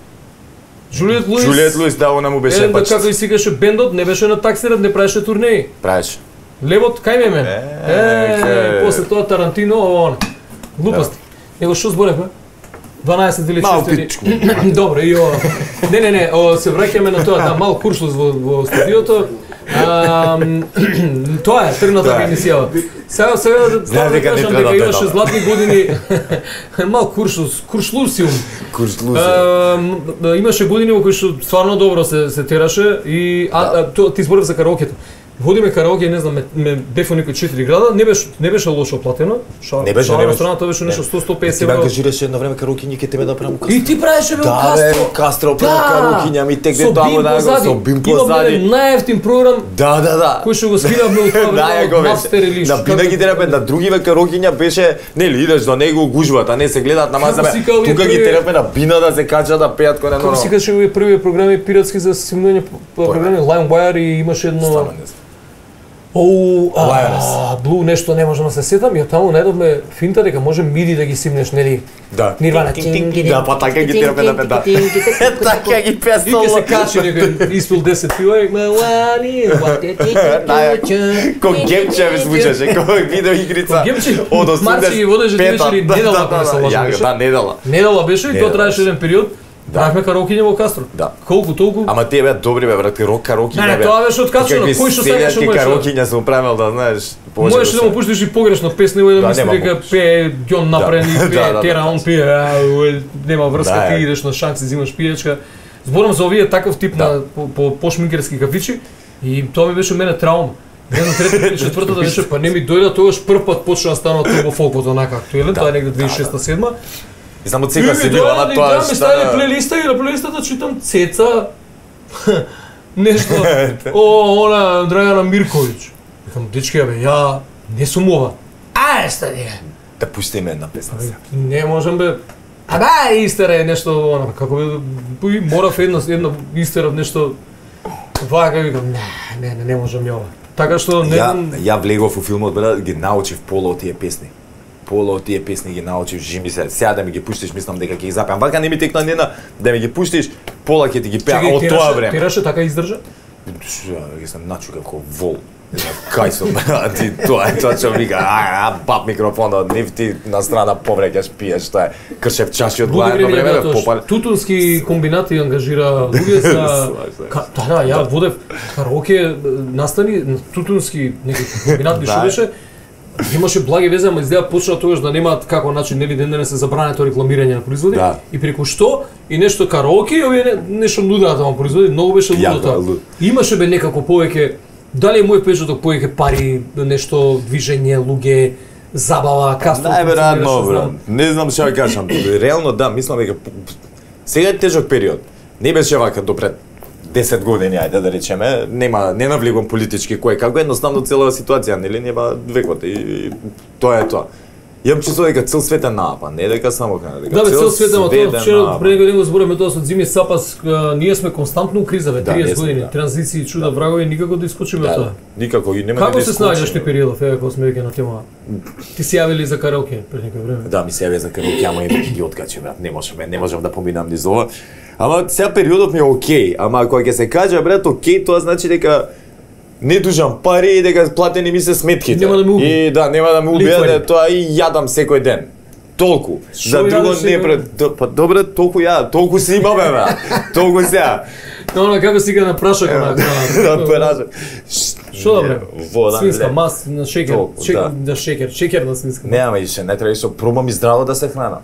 Speaker 1: Џулиет Луис.
Speaker 2: Џулиет Луис, да, она му беше
Speaker 1: бач. Еден како и сикаше бендот, не беше на таксират, не правеше турнеи.
Speaker 2: Правеше.
Speaker 1: Левот кај ме мен. Е, после тоа Тарантино, он. Глупости. Него што зборевме? дванаесет величествени. Добро, и ова. Не, не, не, о, се враќаме на тоа, да, мал куршлус во, во студиото. А, тоа е тргната емисија. Сега сега да да кажам дека имаше златни години. Мал куршлус, куршлусиум.
Speaker 2: Куршлусиум.
Speaker 1: Имаше години во кои што стварно добро се се тераше и а ти зборев за караокето. Водиме караоке, не знам, ме, ме бефо некои четири града, не беше не беше лошо платено.
Speaker 2: Ша, не беше, не беше.
Speaker 1: Страната беше нешто сто до сто песет евро.
Speaker 2: Ти ангажираше едно време караоке, ние ќе тебе да правиме Кастро.
Speaker 1: И ти правеше бе
Speaker 2: да,
Speaker 1: Кастро.
Speaker 2: Да, Кастро правиме караокиња, ми текне таму да го со бим позади.
Speaker 1: Имаме најевтин програм.
Speaker 2: Да, да, да.
Speaker 1: Кој што го скинавме од тоа Напстер или
Speaker 2: што. На бина ги терапе на другиве караокиња беше, нели идеш до него гужват, а не се гледаат на мазаме. Тука ги терапе на бина да се качат да пеат кој на нормално.
Speaker 1: Како си кажеш овие први програми пиратски за симулирање програми LimeWire и имаше едно Оу,
Speaker 2: Lioness.
Speaker 1: Блу нешто не можам да се сетам, ја таму најдовме финта дека може миди да ги симнеш, нели?
Speaker 2: Да.
Speaker 1: Нирвана.
Speaker 2: Да, па така ги терапе да пета. Така ги
Speaker 1: И ке
Speaker 2: песало.
Speaker 1: се качи некој испил десет пива и мелани,
Speaker 2: Ко гемче ме звучеше, ко видео игрица.
Speaker 1: Гемче,
Speaker 2: од
Speaker 1: Марци ги водеше,
Speaker 2: осемдесет
Speaker 1: беше ли недела кога се лажа
Speaker 2: Ја,
Speaker 1: беше?
Speaker 2: да, недела.
Speaker 1: Недела беше и тоа
Speaker 2: Недела
Speaker 1: траеше еден период. Правихме караокиње во Кастро.
Speaker 2: Да.
Speaker 1: Колку толку?
Speaker 2: Ама тие беа добри бе, брат, рок караоки
Speaker 1: Не, не, тоа беше откачено. Кој што сакаше
Speaker 2: мојше?
Speaker 1: можеше.
Speaker 2: Караокиња сум правил, да знаеш.
Speaker 1: Можеш да му пуштиш и погрешно песна и да
Speaker 2: Да,
Speaker 1: мисли
Speaker 2: нема
Speaker 1: дека
Speaker 2: моguće.
Speaker 1: пее Ѓон Напрен и
Speaker 2: Да,
Speaker 1: пее
Speaker 2: да,
Speaker 1: Тера,
Speaker 2: да.
Speaker 1: он пие, а, уе, нема врска,
Speaker 2: Да,
Speaker 1: ти
Speaker 2: е.
Speaker 1: идеш на шанс и взимаш пијачка. Зборам за овие таков тип
Speaker 2: Да.
Speaker 1: на по, по пошминкерски кафичи и тоа ми беше мене траума. Не знам, третата или четвртата беше, па не ми дојде тогаш прв пат почна да станува тоа во фолкот онака актуелен,
Speaker 2: Да,
Speaker 1: тоа е негде
Speaker 2: да,
Speaker 1: две тисечи и шеста седма.
Speaker 2: И само цека се била, ама тоа
Speaker 1: тоа ми стави
Speaker 2: што...
Speaker 1: плейлиста и на плейлистата читам Цеца нешто. О, она Драгана Мирковиќ. Викам, дечки, бе, ја не сум ова. Ај, стади.
Speaker 2: Да пустиме една песна сега.
Speaker 1: Не можам бе. А ба, истера е нешто, она, како бе, морав едно, едно истерав нешто. Вака викам, не, не, не, не можам ја ова. Така што не
Speaker 2: Ја,
Speaker 1: знам.
Speaker 2: ја влегов во филмот, бе, ги научив пола од тие песни. Пола од тие песни ги научив, жими се. Сега да ми ги пуштиш, мислам дека ќе ги запеам. Вака не ми текна ни една, да ми ги пуштиш, пола ќе ти ги пеа од тоа време.
Speaker 1: Тераше така издржа?
Speaker 2: Ја сам начу како вол. Кај сум, ти тоа е тоа што вика, ај, а, баб микрофонот, нив ти на страна повреќаш, пиеш, тоа е кршев чаши од главно време, бе, попале.
Speaker 1: Тутунски комбинати ангажира луѓе за Ка- да, да, ја водев караоке настани тутунски неки комбинат што
Speaker 2: Да.
Speaker 1: беше. Имаше благи везе, ама изгледа почна тогаш да немаат како начин нели ден денес се забрането рекламирање на производи
Speaker 2: Да.
Speaker 1: и преку што и нешто караоке и овие не- нешто нудеа таму производи, многу беше лудо
Speaker 2: Јако,
Speaker 1: тоа.
Speaker 2: луд.
Speaker 1: Имаше бе некако повеќе дали е мој печаток повеќе пари, нешто движење, луѓе, забава, кастро.
Speaker 2: Најверојатно, бро. Не знам што ќе кажам. Реално да, мислам дека сега е тежок период. Не беше вака до пред десет години, ајде да речеме, нема не навлегувам политички кој како едноставно целава ситуација, нели нема векот и, и тоа е тоа. Јам чувство дека цел свет е наапан, не дека само кај дека
Speaker 1: Да, бе, цел свет, ама
Speaker 2: свет
Speaker 1: тоа
Speaker 2: е
Speaker 1: вчера
Speaker 2: наапан.
Speaker 1: пред некој ден го зборуваме тоа со Зими Сапас, а, ние сме константно у криза, бе,
Speaker 2: Да,
Speaker 1: триесет
Speaker 2: не сме,
Speaker 1: години,
Speaker 2: да.
Speaker 1: транзиции, чуда, врагови, никако да искочиме од
Speaker 2: Да,
Speaker 1: тоа.
Speaker 2: да. Никако и нема
Speaker 1: Како
Speaker 2: да
Speaker 1: се
Speaker 2: искочиме.
Speaker 1: снаѓаш ти периодов, еве кога сме веќе на тема? Ти си јавили за караоке пред некој време.
Speaker 2: Да, ми се јави за караоке, ама и ги откачи, брат. Не можам, не можам да поминам низ ова. Ама сега периодот ми е окей, ама кога ќе се каже, брат, окей, тоа значи дека не дужам пари и дека платени ми се сметките.
Speaker 1: Нема да ме уби.
Speaker 2: И да, нема да ме убијат,
Speaker 1: Лихвари.
Speaker 2: да, тоа и јадам секој ден. Толку.
Speaker 1: Шо
Speaker 2: За друго
Speaker 1: јадеш
Speaker 2: не
Speaker 1: секој
Speaker 2: пред, до- па добре, толку ја, толку си имаме, брат. Толку сега.
Speaker 1: Но она како сега на прашак, она.
Speaker 2: Да прашам.
Speaker 1: Шо добре?
Speaker 2: Вода.
Speaker 1: Свинска
Speaker 2: лед.
Speaker 1: мас на шекер,
Speaker 2: Толку,
Speaker 1: шекер,
Speaker 2: да.
Speaker 1: да шекер, шекер на свинска.
Speaker 2: Нема ише, не треба ише, пробам и здраво да се храна.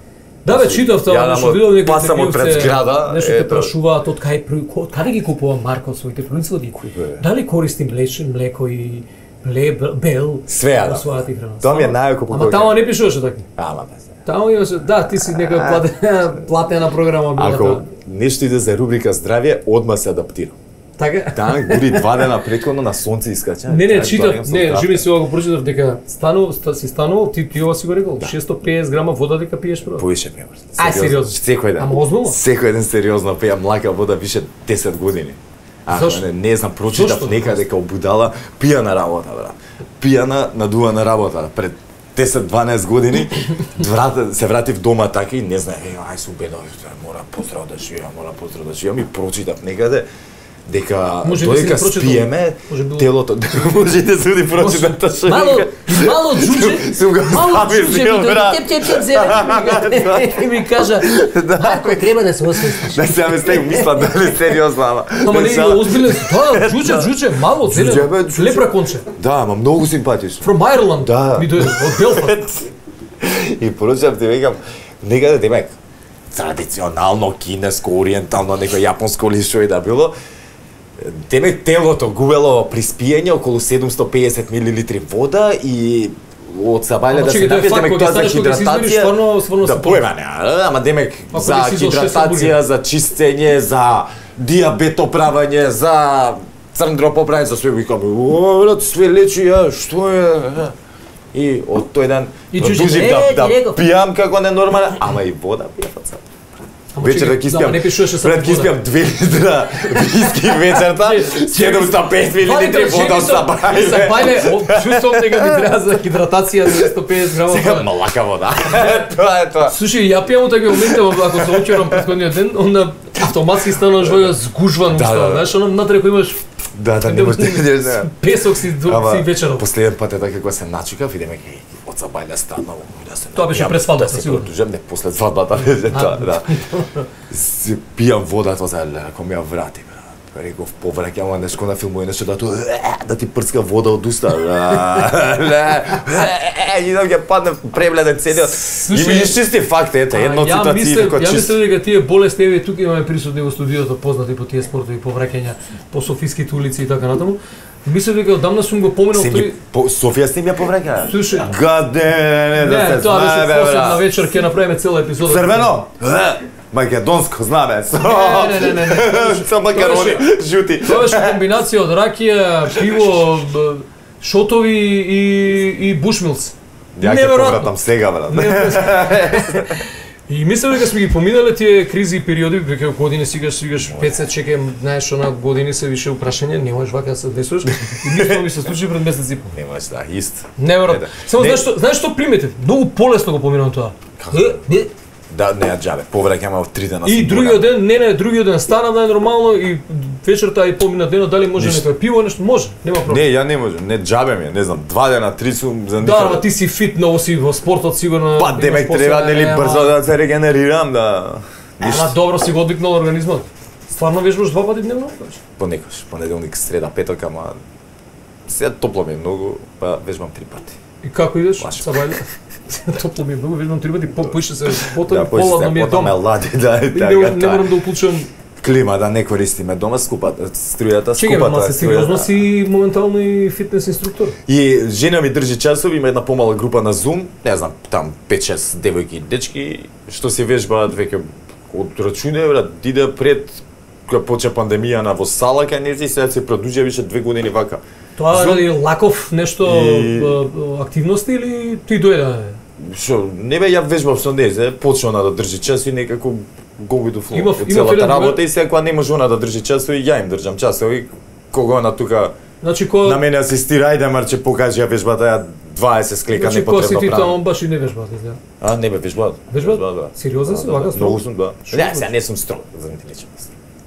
Speaker 1: Да бе, читав тоа,
Speaker 2: Јадам
Speaker 1: нешто
Speaker 2: од-
Speaker 1: видов некој
Speaker 2: пасам од
Speaker 1: интервју,
Speaker 2: пред
Speaker 1: се-
Speaker 2: зграда,
Speaker 1: Нешто те
Speaker 2: ето.
Speaker 1: прашуваат од кај при- од каде ги купува Марко своите производи?
Speaker 2: бе?
Speaker 1: Дали користи млече, млеко и мле, бел
Speaker 2: Све јадам.
Speaker 1: во својата храна?
Speaker 2: Тоа ми е
Speaker 1: Ама-
Speaker 2: најако по
Speaker 1: Ама
Speaker 2: кој-
Speaker 1: тамо не пишуваше така.
Speaker 2: Ама бе. се.
Speaker 1: Тамо имаше, да, ти си некоја платена, платена програма била
Speaker 2: Ако
Speaker 1: таа.
Speaker 2: нешто иде за рубрика здравје, одма се адаптирам.
Speaker 1: Така?
Speaker 2: Таа дури два дена претходно на сонце искача.
Speaker 1: Не, не,
Speaker 2: Таа
Speaker 1: читав,
Speaker 2: доаѓам со
Speaker 1: не,
Speaker 2: здравка.
Speaker 1: живи си ова го прочитав дека стану, ста, си станувал, ти ти ова си го рекол, шесто и педесет грама вода дека пиеш прво.
Speaker 2: Повише пијам.
Speaker 1: Ај, сериозно?
Speaker 2: Секој ден.
Speaker 1: Ама озбилно?
Speaker 2: Секој ден сериозно пијам млака вода више десет години. А,
Speaker 1: Зашто?
Speaker 2: не, не знам, прочитав
Speaker 1: Зашто?
Speaker 2: некаде како будала, пијана работа, брат. Пијана, надувана работа. Пред десет-дванаесет години врат, се вратив дома така и не знаев, ај сум бедов, мора поздрав да живеам, мора поздрав да живеам и прочитав некаде дека
Speaker 1: Може би си
Speaker 2: додека
Speaker 1: не прочитал.
Speaker 2: спиеме,
Speaker 1: Може би-
Speaker 2: телото можете да суди прочитате што
Speaker 1: Мало,
Speaker 2: вика.
Speaker 1: мало джуџе,
Speaker 2: Сум го
Speaker 1: мало
Speaker 2: ставил,
Speaker 1: джуџе
Speaker 2: бил,
Speaker 1: ми
Speaker 2: брат.
Speaker 1: дојде, теп, теп, теп, зеле, и ми кажа, Марко, треба да се освестиш.
Speaker 2: Да сега ме стег мисла дали сериозно, ама.
Speaker 1: Ама не,
Speaker 2: Сега-
Speaker 1: озбилен, да, джуџе, джуџе, мало,
Speaker 2: Джуџе, бе,
Speaker 1: зеле,
Speaker 2: джуџе.
Speaker 1: лепра конче.
Speaker 2: Да, ама многу симпатично.
Speaker 1: From Ireland,
Speaker 2: Да.
Speaker 1: ми дојде, од Белфаст.
Speaker 2: И поручав ти викам, некаде демек, традиционално, кинеско, ориентално, некој јапонско или што и да било, демек телото губело при спиење околу седумсто и педесет милилитри вода и од сабајле
Speaker 1: Ама
Speaker 2: да се
Speaker 1: чекај, тоа е
Speaker 2: напие,
Speaker 1: факт,
Speaker 2: демек
Speaker 1: кога
Speaker 2: тоа за
Speaker 1: станеш кога се измериш,
Speaker 2: хидратација.
Speaker 1: стварно- стварно
Speaker 2: Да
Speaker 1: се
Speaker 2: појма не, ама демек
Speaker 1: Ако
Speaker 2: за
Speaker 1: не си изол шест
Speaker 2: хидратација,
Speaker 1: бургери.
Speaker 2: за чистење, за диабетоправање, за црн дропоправење, за све викам, о, брат, све лечи, ја, што е? И од тој ден
Speaker 1: И чуше,
Speaker 2: продолжив
Speaker 1: е,
Speaker 2: да,
Speaker 1: ти
Speaker 2: да
Speaker 1: реков.
Speaker 2: пијам како ненормален, ама и вода пијав од сад. вечер да
Speaker 1: чекай, да, не пишуваше само
Speaker 2: пред ќе
Speaker 1: вода.
Speaker 2: испијам две литра виски вечерта, седумстотини и петдесет милилитри вода од Сабајле.
Speaker 1: Сабајле, чувствувам дека ми треба за хидратација за двесто и педесет грама.
Speaker 2: Сега малака вода. Тоа е тоа.
Speaker 1: Слушај, ја пијам од такви моменти, ако се очерам претходниот ден, онда автоматски стануваш во згужван
Speaker 2: Да,
Speaker 1: устава,
Speaker 2: да.
Speaker 1: знаеш, оно натре кој имаш
Speaker 2: Да, да, не можеш да идеш. да.
Speaker 1: песок си до си вечерот.
Speaker 2: Последен пат е така кога се начукав, идеме кај од Сабајле станав, да се.
Speaker 1: Тоа беше
Speaker 2: напијам,
Speaker 1: пред свадбата,
Speaker 2: да се
Speaker 1: сигурно.
Speaker 2: продужам, не после свадбата беше тоа, да. Си пијам вода, тоа за ако ми ја врати, бра. Реков, повраќам, ама нешко на филмови нешто да тоа да ти прцка вода од уста. Идам ќе падне пребледен целиот. И ми чисти факт, ете, една од ситуациите која
Speaker 1: Ја
Speaker 2: чист.
Speaker 1: мислам дека тие болести еве тука имаме присутни во студиото познати по тие спортови повраќања по софиските улици и така натаму. Мислам дека одамна сум го поминал
Speaker 2: Се
Speaker 1: тој.
Speaker 2: ми по Софија сте ми ја повраќа.
Speaker 1: Слушај,
Speaker 2: Гаде, не, да
Speaker 1: не,
Speaker 2: се
Speaker 1: тоа беше
Speaker 2: знае, бе,
Speaker 1: посебна
Speaker 2: бра.
Speaker 1: вечер, ќе направиме цела епизода.
Speaker 2: Црвено? Македонско знаме.
Speaker 1: Не, не, не, не.
Speaker 2: Со макарони жути.
Speaker 1: Тоа беше комбинација од ракија, пиво, б- шотови и и бушмилс.
Speaker 2: Ја ќе повратам сега, брат.
Speaker 1: И мислам дека сме ги поминале тие кризи и периоди, дека години сигаш сигаш петдесет чекај, знаеш, она години се више упрашање, не можеш вака да се десуваш. И мислам ми се случи пред месец и пол.
Speaker 2: Немаш да, ист.
Speaker 1: Неверојатно. Само
Speaker 2: Не.
Speaker 1: знаеш што, знаеш што приметив? Многу полесно го поминам тоа. Е, е.
Speaker 2: Да, не, џабе, повраќаме од три дена.
Speaker 1: И
Speaker 2: сум
Speaker 1: другиот
Speaker 2: буран.
Speaker 1: ден, не, не, другиот ден стана најнормално и вечерта и помина денот, дали може
Speaker 2: Ништо.
Speaker 1: некој пиво, нешто може, нема проблем.
Speaker 2: Не, ја не можам, не џабе ми, е, не знам, два дена, три сум за
Speaker 1: Да, ама ти си фит, многу си во спортот сигурно.
Speaker 2: Па
Speaker 1: имаш
Speaker 2: демек
Speaker 1: посебна-
Speaker 2: треба нели
Speaker 1: ама-
Speaker 2: брзо да се регенерирам, да.
Speaker 1: Ама добро си го одвикнал организмот. Стварно вежбаш два пати дневно?
Speaker 2: Понекогаш, понеделник, среда, петок, ама сега топло ми е многу, па вежбам три пати.
Speaker 1: И како идеш?
Speaker 2: Лашко.
Speaker 1: Сабајле. Топло ми е многу, вежбам три пати, по поише се потоа,
Speaker 2: Да, поише
Speaker 1: поладно
Speaker 2: се,
Speaker 1: ми е
Speaker 2: потом ме
Speaker 1: дома.
Speaker 2: лади, да,
Speaker 1: И
Speaker 2: така,
Speaker 1: не, не
Speaker 2: така.
Speaker 1: морам да уклучам.
Speaker 2: Клима да не користиме дома, скупата, струјата,
Speaker 1: Чекай,
Speaker 2: скупата.
Speaker 1: ама се
Speaker 2: е
Speaker 1: сериозно
Speaker 2: струјата.
Speaker 1: си моментално и фитнес инструктор.
Speaker 2: И жена ми држи часови, има една помала група на Zoom, не знам, там пет-шест девојки и дечки, што се вежбаат веќе од рачуне, брат, иде пред кога почна пандемија во сала кај нези, сега се продужа више две години вака.
Speaker 1: Тоа
Speaker 2: Зум.
Speaker 1: е лаков нешто
Speaker 2: И-
Speaker 1: б- б- активности или ти дојде?
Speaker 2: Што, не бе, ја вежбав со незе, почна она да држи час и некако го видов флоу
Speaker 1: Имав-
Speaker 2: од
Speaker 1: имав
Speaker 2: целата
Speaker 1: еден
Speaker 2: работа
Speaker 1: друг-
Speaker 2: и сега кога не може она да држи часови, ја им држам часови, кога она тука
Speaker 1: Значи ко
Speaker 2: на мене асистира, ајде марче покажи ја вежбата, ја дваесет склека
Speaker 1: Значи ко си
Speaker 2: непотребно
Speaker 1: ти
Speaker 2: правам.
Speaker 1: таму баш и не вежбаат, изгледа.
Speaker 2: А, не бе, вежбаат.
Speaker 1: Вежбаат?
Speaker 2: да.
Speaker 1: Сериозен си, вака строг?
Speaker 2: Многу сум, да.
Speaker 1: Шо
Speaker 2: Не,
Speaker 1: го-
Speaker 2: сега не сум строг, за не ти речем.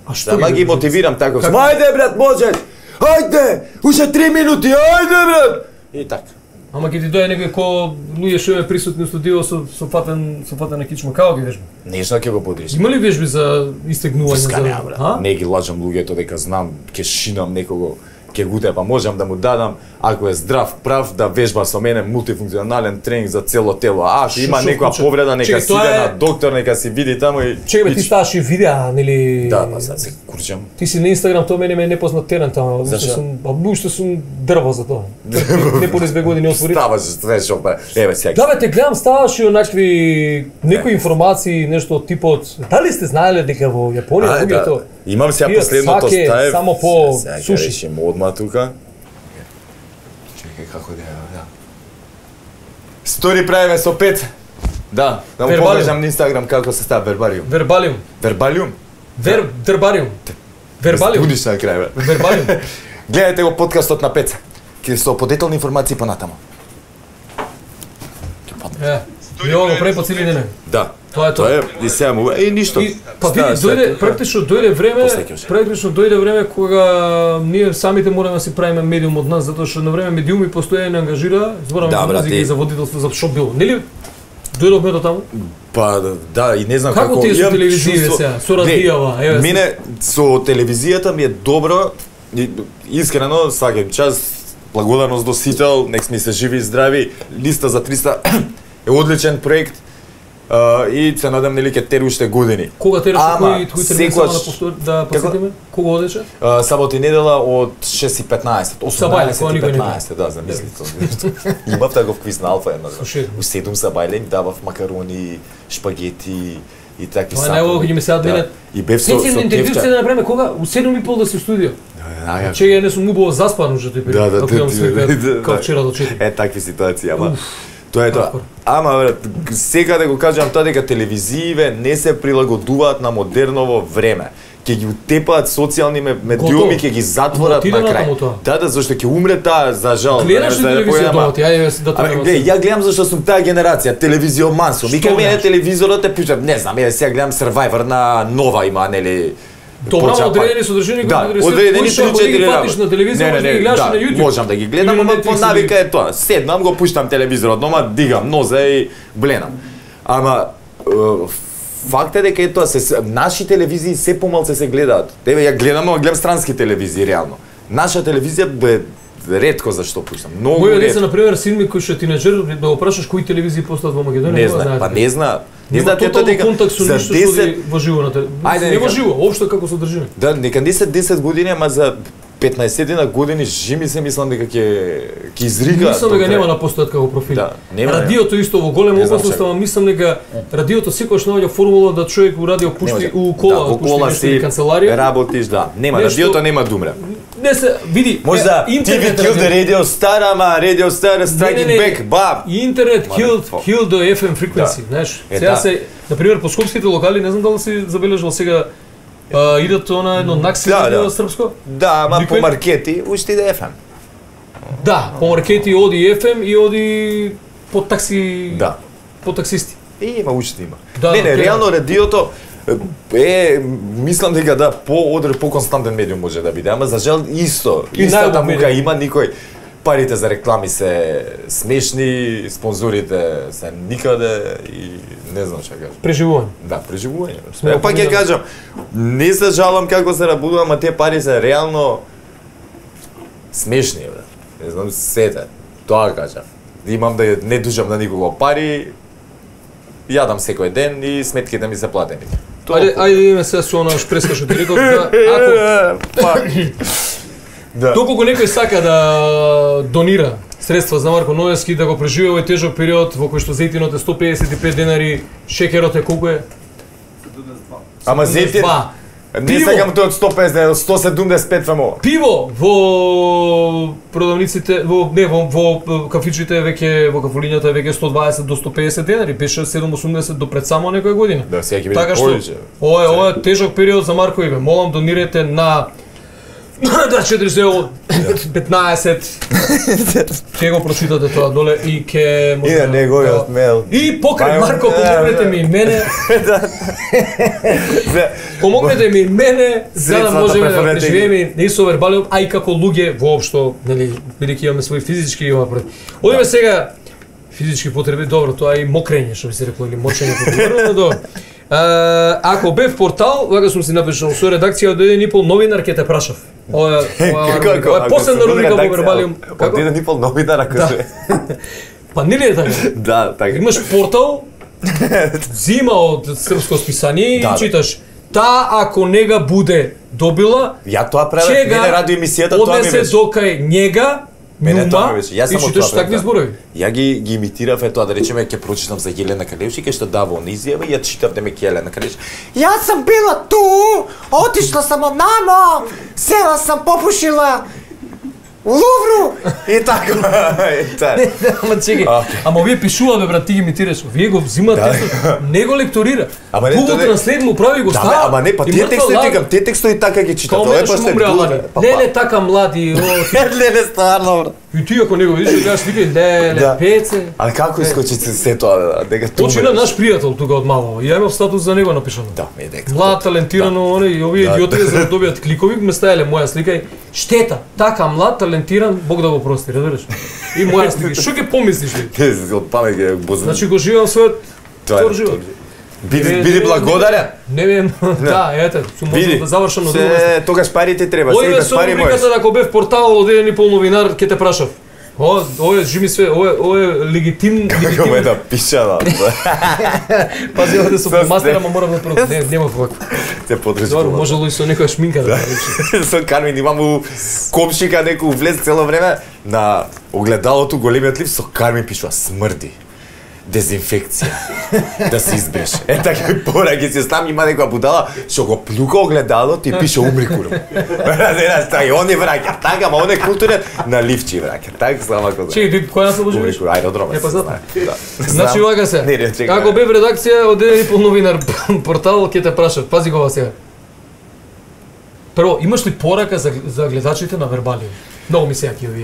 Speaker 1: А што
Speaker 2: Ама ги
Speaker 1: вежбаш?
Speaker 2: мотивирам така.
Speaker 1: Како?
Speaker 2: Ајде брат, можеш. Ајде, уште три минути, ајде брат. И така.
Speaker 1: Ама ќе ти дојде некој ко луѓе што е присутни у студио со со фатен со фатена кичма, како ги вежба?
Speaker 2: Нешто ќе го подриш.
Speaker 1: Има ли вежби за истегнување
Speaker 2: Врска
Speaker 1: за?
Speaker 2: нема, брат. Не ги лажам луѓето дека знам, ќе шинам некого, ќе го тепа, можам да му дадам, ако е здрав, прав, да вежба со мене мултифункционален тренинг за цело тело. А, ако
Speaker 1: Шо-
Speaker 2: има
Speaker 1: шо
Speaker 2: некоја
Speaker 1: вклучува?
Speaker 2: повреда, нека
Speaker 1: Чекај,
Speaker 2: си
Speaker 1: тоа
Speaker 2: иде
Speaker 1: е-
Speaker 2: на доктор, нека си види таму и...
Speaker 1: Чекај, бе,
Speaker 2: и-
Speaker 1: ти ставаш и видеа, нели?
Speaker 2: Да, па сега се курчам.
Speaker 1: Ти си на Инстаграм, тоа мене ме е непознат терен тamo, уште
Speaker 2: Зашо?
Speaker 1: сум, а уште сум дрво за тоа. Не поне две години отвори.
Speaker 2: Ставаш, знаеш, опа. Еве сега.
Speaker 1: Да бе, те гледам, ставаш и онакви некои информации, нешто од типот. Дали сте знаеле дека во Јапонија
Speaker 2: А,
Speaker 1: луѓето
Speaker 2: Имам сега
Speaker 1: пијат
Speaker 2: последното
Speaker 1: саке
Speaker 2: стаев.
Speaker 1: само по
Speaker 2: Сега ќе
Speaker 1: суши.
Speaker 2: решим одма тука. Чекај како да ја, да. Стори правиме со пет. Да, да му
Speaker 1: Вербалиум.
Speaker 2: покажам на Инстаграм како се става вербалиум.
Speaker 1: вербалиум,
Speaker 2: Вербалиум?
Speaker 1: вер дербариум. Вербалиум,
Speaker 2: Будиш на крај, бе.
Speaker 1: вербалиум.
Speaker 2: Гледајте го подкастот на Пеца. Ќе со подетелни информации понатаму. Ќе падне.
Speaker 1: Е, и ово го прави по цели ден.
Speaker 2: Да.
Speaker 1: Тоа е
Speaker 2: Тоа
Speaker 1: тоа.
Speaker 2: е и сега му и ништо.
Speaker 1: И па види,
Speaker 2: Става
Speaker 1: дојде
Speaker 2: сега.
Speaker 1: практично дојде време,
Speaker 2: После ќе ше.
Speaker 1: практично дојде време кога ние самите мораме да си правиме медиум од нас, затоа што на време медиуми постојано не ангажира, зборам
Speaker 2: Да,
Speaker 1: за
Speaker 2: брат,
Speaker 1: музика
Speaker 2: и-
Speaker 1: и за водителство за што било. Нели дојдовме до таму?
Speaker 2: Па да, и не знам
Speaker 1: Како
Speaker 2: како
Speaker 1: ти е со
Speaker 2: имам
Speaker 1: телевизија
Speaker 2: чувство-
Speaker 1: сега, со
Speaker 2: Не,
Speaker 1: Радијава, еве,
Speaker 2: Мене со телевизијата ми е добро, и, искрено сваќам час, благодарност до сите, нек сме се живи и здрави. Листа за триста е одличен проект. Uh, и се надам нели ќе тери уште години.
Speaker 1: Кога тераш
Speaker 2: Ама,
Speaker 1: кој кој термин само
Speaker 2: секогаш-
Speaker 1: да повтори да посетиме? Кога одеше?
Speaker 2: Uh, сабота и недела од шест и петнаесет,
Speaker 1: Сабајле,
Speaker 2: осумнаесет
Speaker 1: кога
Speaker 2: и
Speaker 1: никој не
Speaker 2: петнаесет, да, замислите. Имав таков квиз на Алфа еднаш.
Speaker 1: Слушај.
Speaker 2: У седум Сабајле им давав макарони, шпагети и такви
Speaker 1: Тоа е најубаво кога ќе ми се мене.
Speaker 2: И бев со
Speaker 1: Сеќавам
Speaker 2: со
Speaker 1: на интервју се
Speaker 2: Тевча.
Speaker 1: да направиме кога у седум и пол да се студио.
Speaker 2: Да, ја-
Speaker 1: Че ја не сум убаво заспан уште тој
Speaker 2: Да,
Speaker 1: период.
Speaker 2: да,
Speaker 1: како имам
Speaker 2: да,
Speaker 1: свика,
Speaker 2: да, да.
Speaker 1: како вчера до четири.
Speaker 2: Е, такви ситуации, ама Тоа е тоа. Ама брат, секаде го кажам тоа дека телевизииве не се прилагодуваат на модерново време. Ќе ги утепаат социјални медиуми, ќе ги затворат на крај. Да, да, зашто ќе умре таа, за жал.
Speaker 1: Гледаш ли телевизија дома ти? Ајде да
Speaker 2: те. Гледај, ја гледам зашто сум таа генерација, телевизиоман сум. Вика мене телевизорот е пишам, не знам, ја сега гледам Survivor на Нова има, нели?
Speaker 1: Добра, одредени содржини кои
Speaker 2: да, одредени три-четири
Speaker 1: работи на телевизија, може да ги гледаш на YouTube.
Speaker 2: Можам да ги гледам, ама по навика е тоа. Седнам, го пуштам телевизорот, дома дигам ноза и бленам. Ама факт е дека е тоа, се, наши телевизии се помалце се гледаат. Еве ја гледам, ама гледам странски телевизии реално. Наша телевизија бе ретко зашто пуштам. Многу
Speaker 1: Моја
Speaker 2: ретко.
Speaker 1: деца на пример син ми кој што тинеџер да го прашаш кои телевизии постојат во Македонија,
Speaker 2: не знае, па не знае. Не знаат тоа дека
Speaker 1: контакт со ништо што во живо на телевизија. Не во живо, општо како содржина.
Speaker 2: Да, нека десет години, ама за петнаесет години жими се мислам дека ќе ќе изрига.
Speaker 1: Мислам дека нема на постојат како профили.
Speaker 2: Да, нема.
Speaker 1: Радиото исто во голема опасност, ама мислам дека радиото секогаш наоѓа формула да човек у радио пушти у кола,
Speaker 2: да,
Speaker 1: пушти нешто
Speaker 2: си
Speaker 1: канцеларија.
Speaker 2: Работиш, да. Нема
Speaker 1: нешто...
Speaker 2: радиото нема да умре.
Speaker 1: Не се види.
Speaker 2: Може да ти ви kill the radio star, ама radio star striking back, баб.
Speaker 1: Интернет killed killed the еф ем frequency, знаеш. Сега се, на пример, по скопските локали, не знам дали си забележал сега Uh, идат она едно накси
Speaker 2: да, да.
Speaker 1: српско?
Speaker 2: Да, ама по маркети уште иде еф ем.
Speaker 1: Да, по маркети оди еф ем и оди по такси,
Speaker 2: да.
Speaker 1: По таксисти.
Speaker 2: И има уште има.
Speaker 1: Да,
Speaker 2: не, не,
Speaker 1: да,
Speaker 2: реално радиото е, мислам дека да, по-одр, по-константен медиум може да биде, ама за жал исто. И истата мука има, никој парите за реклами се смешни, спонзорите се никаде и не знам што кажам.
Speaker 1: Преживување.
Speaker 2: Да, преживување. Е, па ќе кажам, не се жалам како се работува, ама те пари се реално смешни, бре. Не знам сете. Тоа кажам. Имам да не дужам на никого пари, јадам секој ден и сметките ми се платени.
Speaker 1: Ајде, ајде име се со она шпреска што ти реков, да, ако
Speaker 2: да.
Speaker 1: Доколку некој сака да донира средства за Марко Ноевски да го преживее овој тежок период во кој што зејтинот е сто педесет и пет денари, шекерот е колку е?
Speaker 2: Ама зејтин не сакам тој од сто песет, сто седумдесет и пет фамо.
Speaker 1: Пиво во продавниците, во не во, во кафичите веќе во кафулињата веќе сто дваесет до сто педесет денари, беше седум осумдесет до пред само некоја година.
Speaker 2: Да, сега ќе биде
Speaker 1: така што ова е ова е тежок период за Марко Иве. Молам донирайте на да четиристотини петнаесет ќе го прочитате тоа доле и ќе
Speaker 2: може да неговиот мейл.
Speaker 1: И покрај Марко помогнете ми и мене. Помогнете ми и мене за да можеме да преживееме не со вербалиот, а и како луѓе воопшто, нели, бидејќи имаме свои физички и ова пред. Одиме сега физички потреби, добро, тоа и мокрење, што би се рекло, или мочење потреби, добро. Uh, ако бев портал, вака сум си напишал со редакција од еден и пол новинар ќе те прашав. Ова е последна рубрика во Вербалиум.
Speaker 2: Од еден и пол новинар ако се.
Speaker 1: Па нели е така?
Speaker 2: Да, така.
Speaker 1: Имаш портал, зима од српско списание и читаш та ако нега буде добила,
Speaker 2: ја тоа правев, мене радио емисијата тоа ми беше.
Speaker 1: Однесе до кај нега.
Speaker 2: Мене тоа ми беше. Јас
Speaker 1: сам од тоа такви зборови.
Speaker 2: Ја ги ги имитирав е тоа, да речеме ќе прочитам за Јелена Калевски, кај што дава он изјава и ја читав дека Јелена Калевски.
Speaker 5: Јас сам била ту, отишла сам од мамо, села сам попушила у Лувру
Speaker 2: и така.
Speaker 1: Ама чеки, ама овие пишуваме брат, ти ги имитираш. Вие го взимате, не го лекторира. Google Translate му прави го става.
Speaker 2: Ама не, па тие текстови текам, тие текстови така ги читат.
Speaker 1: Тоа е па се леле така млади.
Speaker 5: Леле стварно брат.
Speaker 1: И ти ако не го видиш, јас викам леле пеце.
Speaker 2: А како искочи се тоа дека тоа?
Speaker 1: Почина наш пријател тука од мало. Ја имав статус за него напишано.
Speaker 2: Да, ме дека.
Speaker 1: Млад, талентирано, оне и овие идиоти за да добијат кликови, ме стаеле моја слика и штета. Така млад, талентиран, Бог да го прости, разбираш? И моја слика. Што ќе помислиш ли?
Speaker 2: Не, од памет ќе бозна.
Speaker 1: Значи го живеам својот втор живот.
Speaker 2: Биди биди благодарен.
Speaker 1: Не вем, да, ете, сум можел да завршам на друго
Speaker 2: место. Тогаш парите треба, се без пари можеш.
Speaker 1: Одиме со ако бев портал од еден и пол новинар, ќе те прашав. О, ова жими све, ова ова е легитим,
Speaker 2: како ме да пишала.
Speaker 1: Пази овде со мастера, ама морам да прво. Не, нема вака.
Speaker 2: Се подрежи.
Speaker 1: Добро, можело и со некоја шминка да речи.
Speaker 2: Со Кармин имам комшика некој влез цело време на огледалото големиот лив со Кармин пишува смрди. дезинфекција. Да се избреше. Е така пораки се стам има некоја будала што го плюка огледалот и пише умри курм. Разбираш, така и он е враќа. Така, ма он е културен на ливчи враќа. Така само како.
Speaker 1: Чеки, која нас обожуваш?
Speaker 2: Умри курм, аеродромот.
Speaker 1: Е па знам.
Speaker 2: Да.
Speaker 1: Значи вака се.
Speaker 2: Не, не, чекај.
Speaker 1: Како бе в редакција од еден и пол новинар портал ќе те прашат. Пази го ова сега. Прво, имаш ли порака за за гледачите на Вербалиум? Многу ми се јаки овие.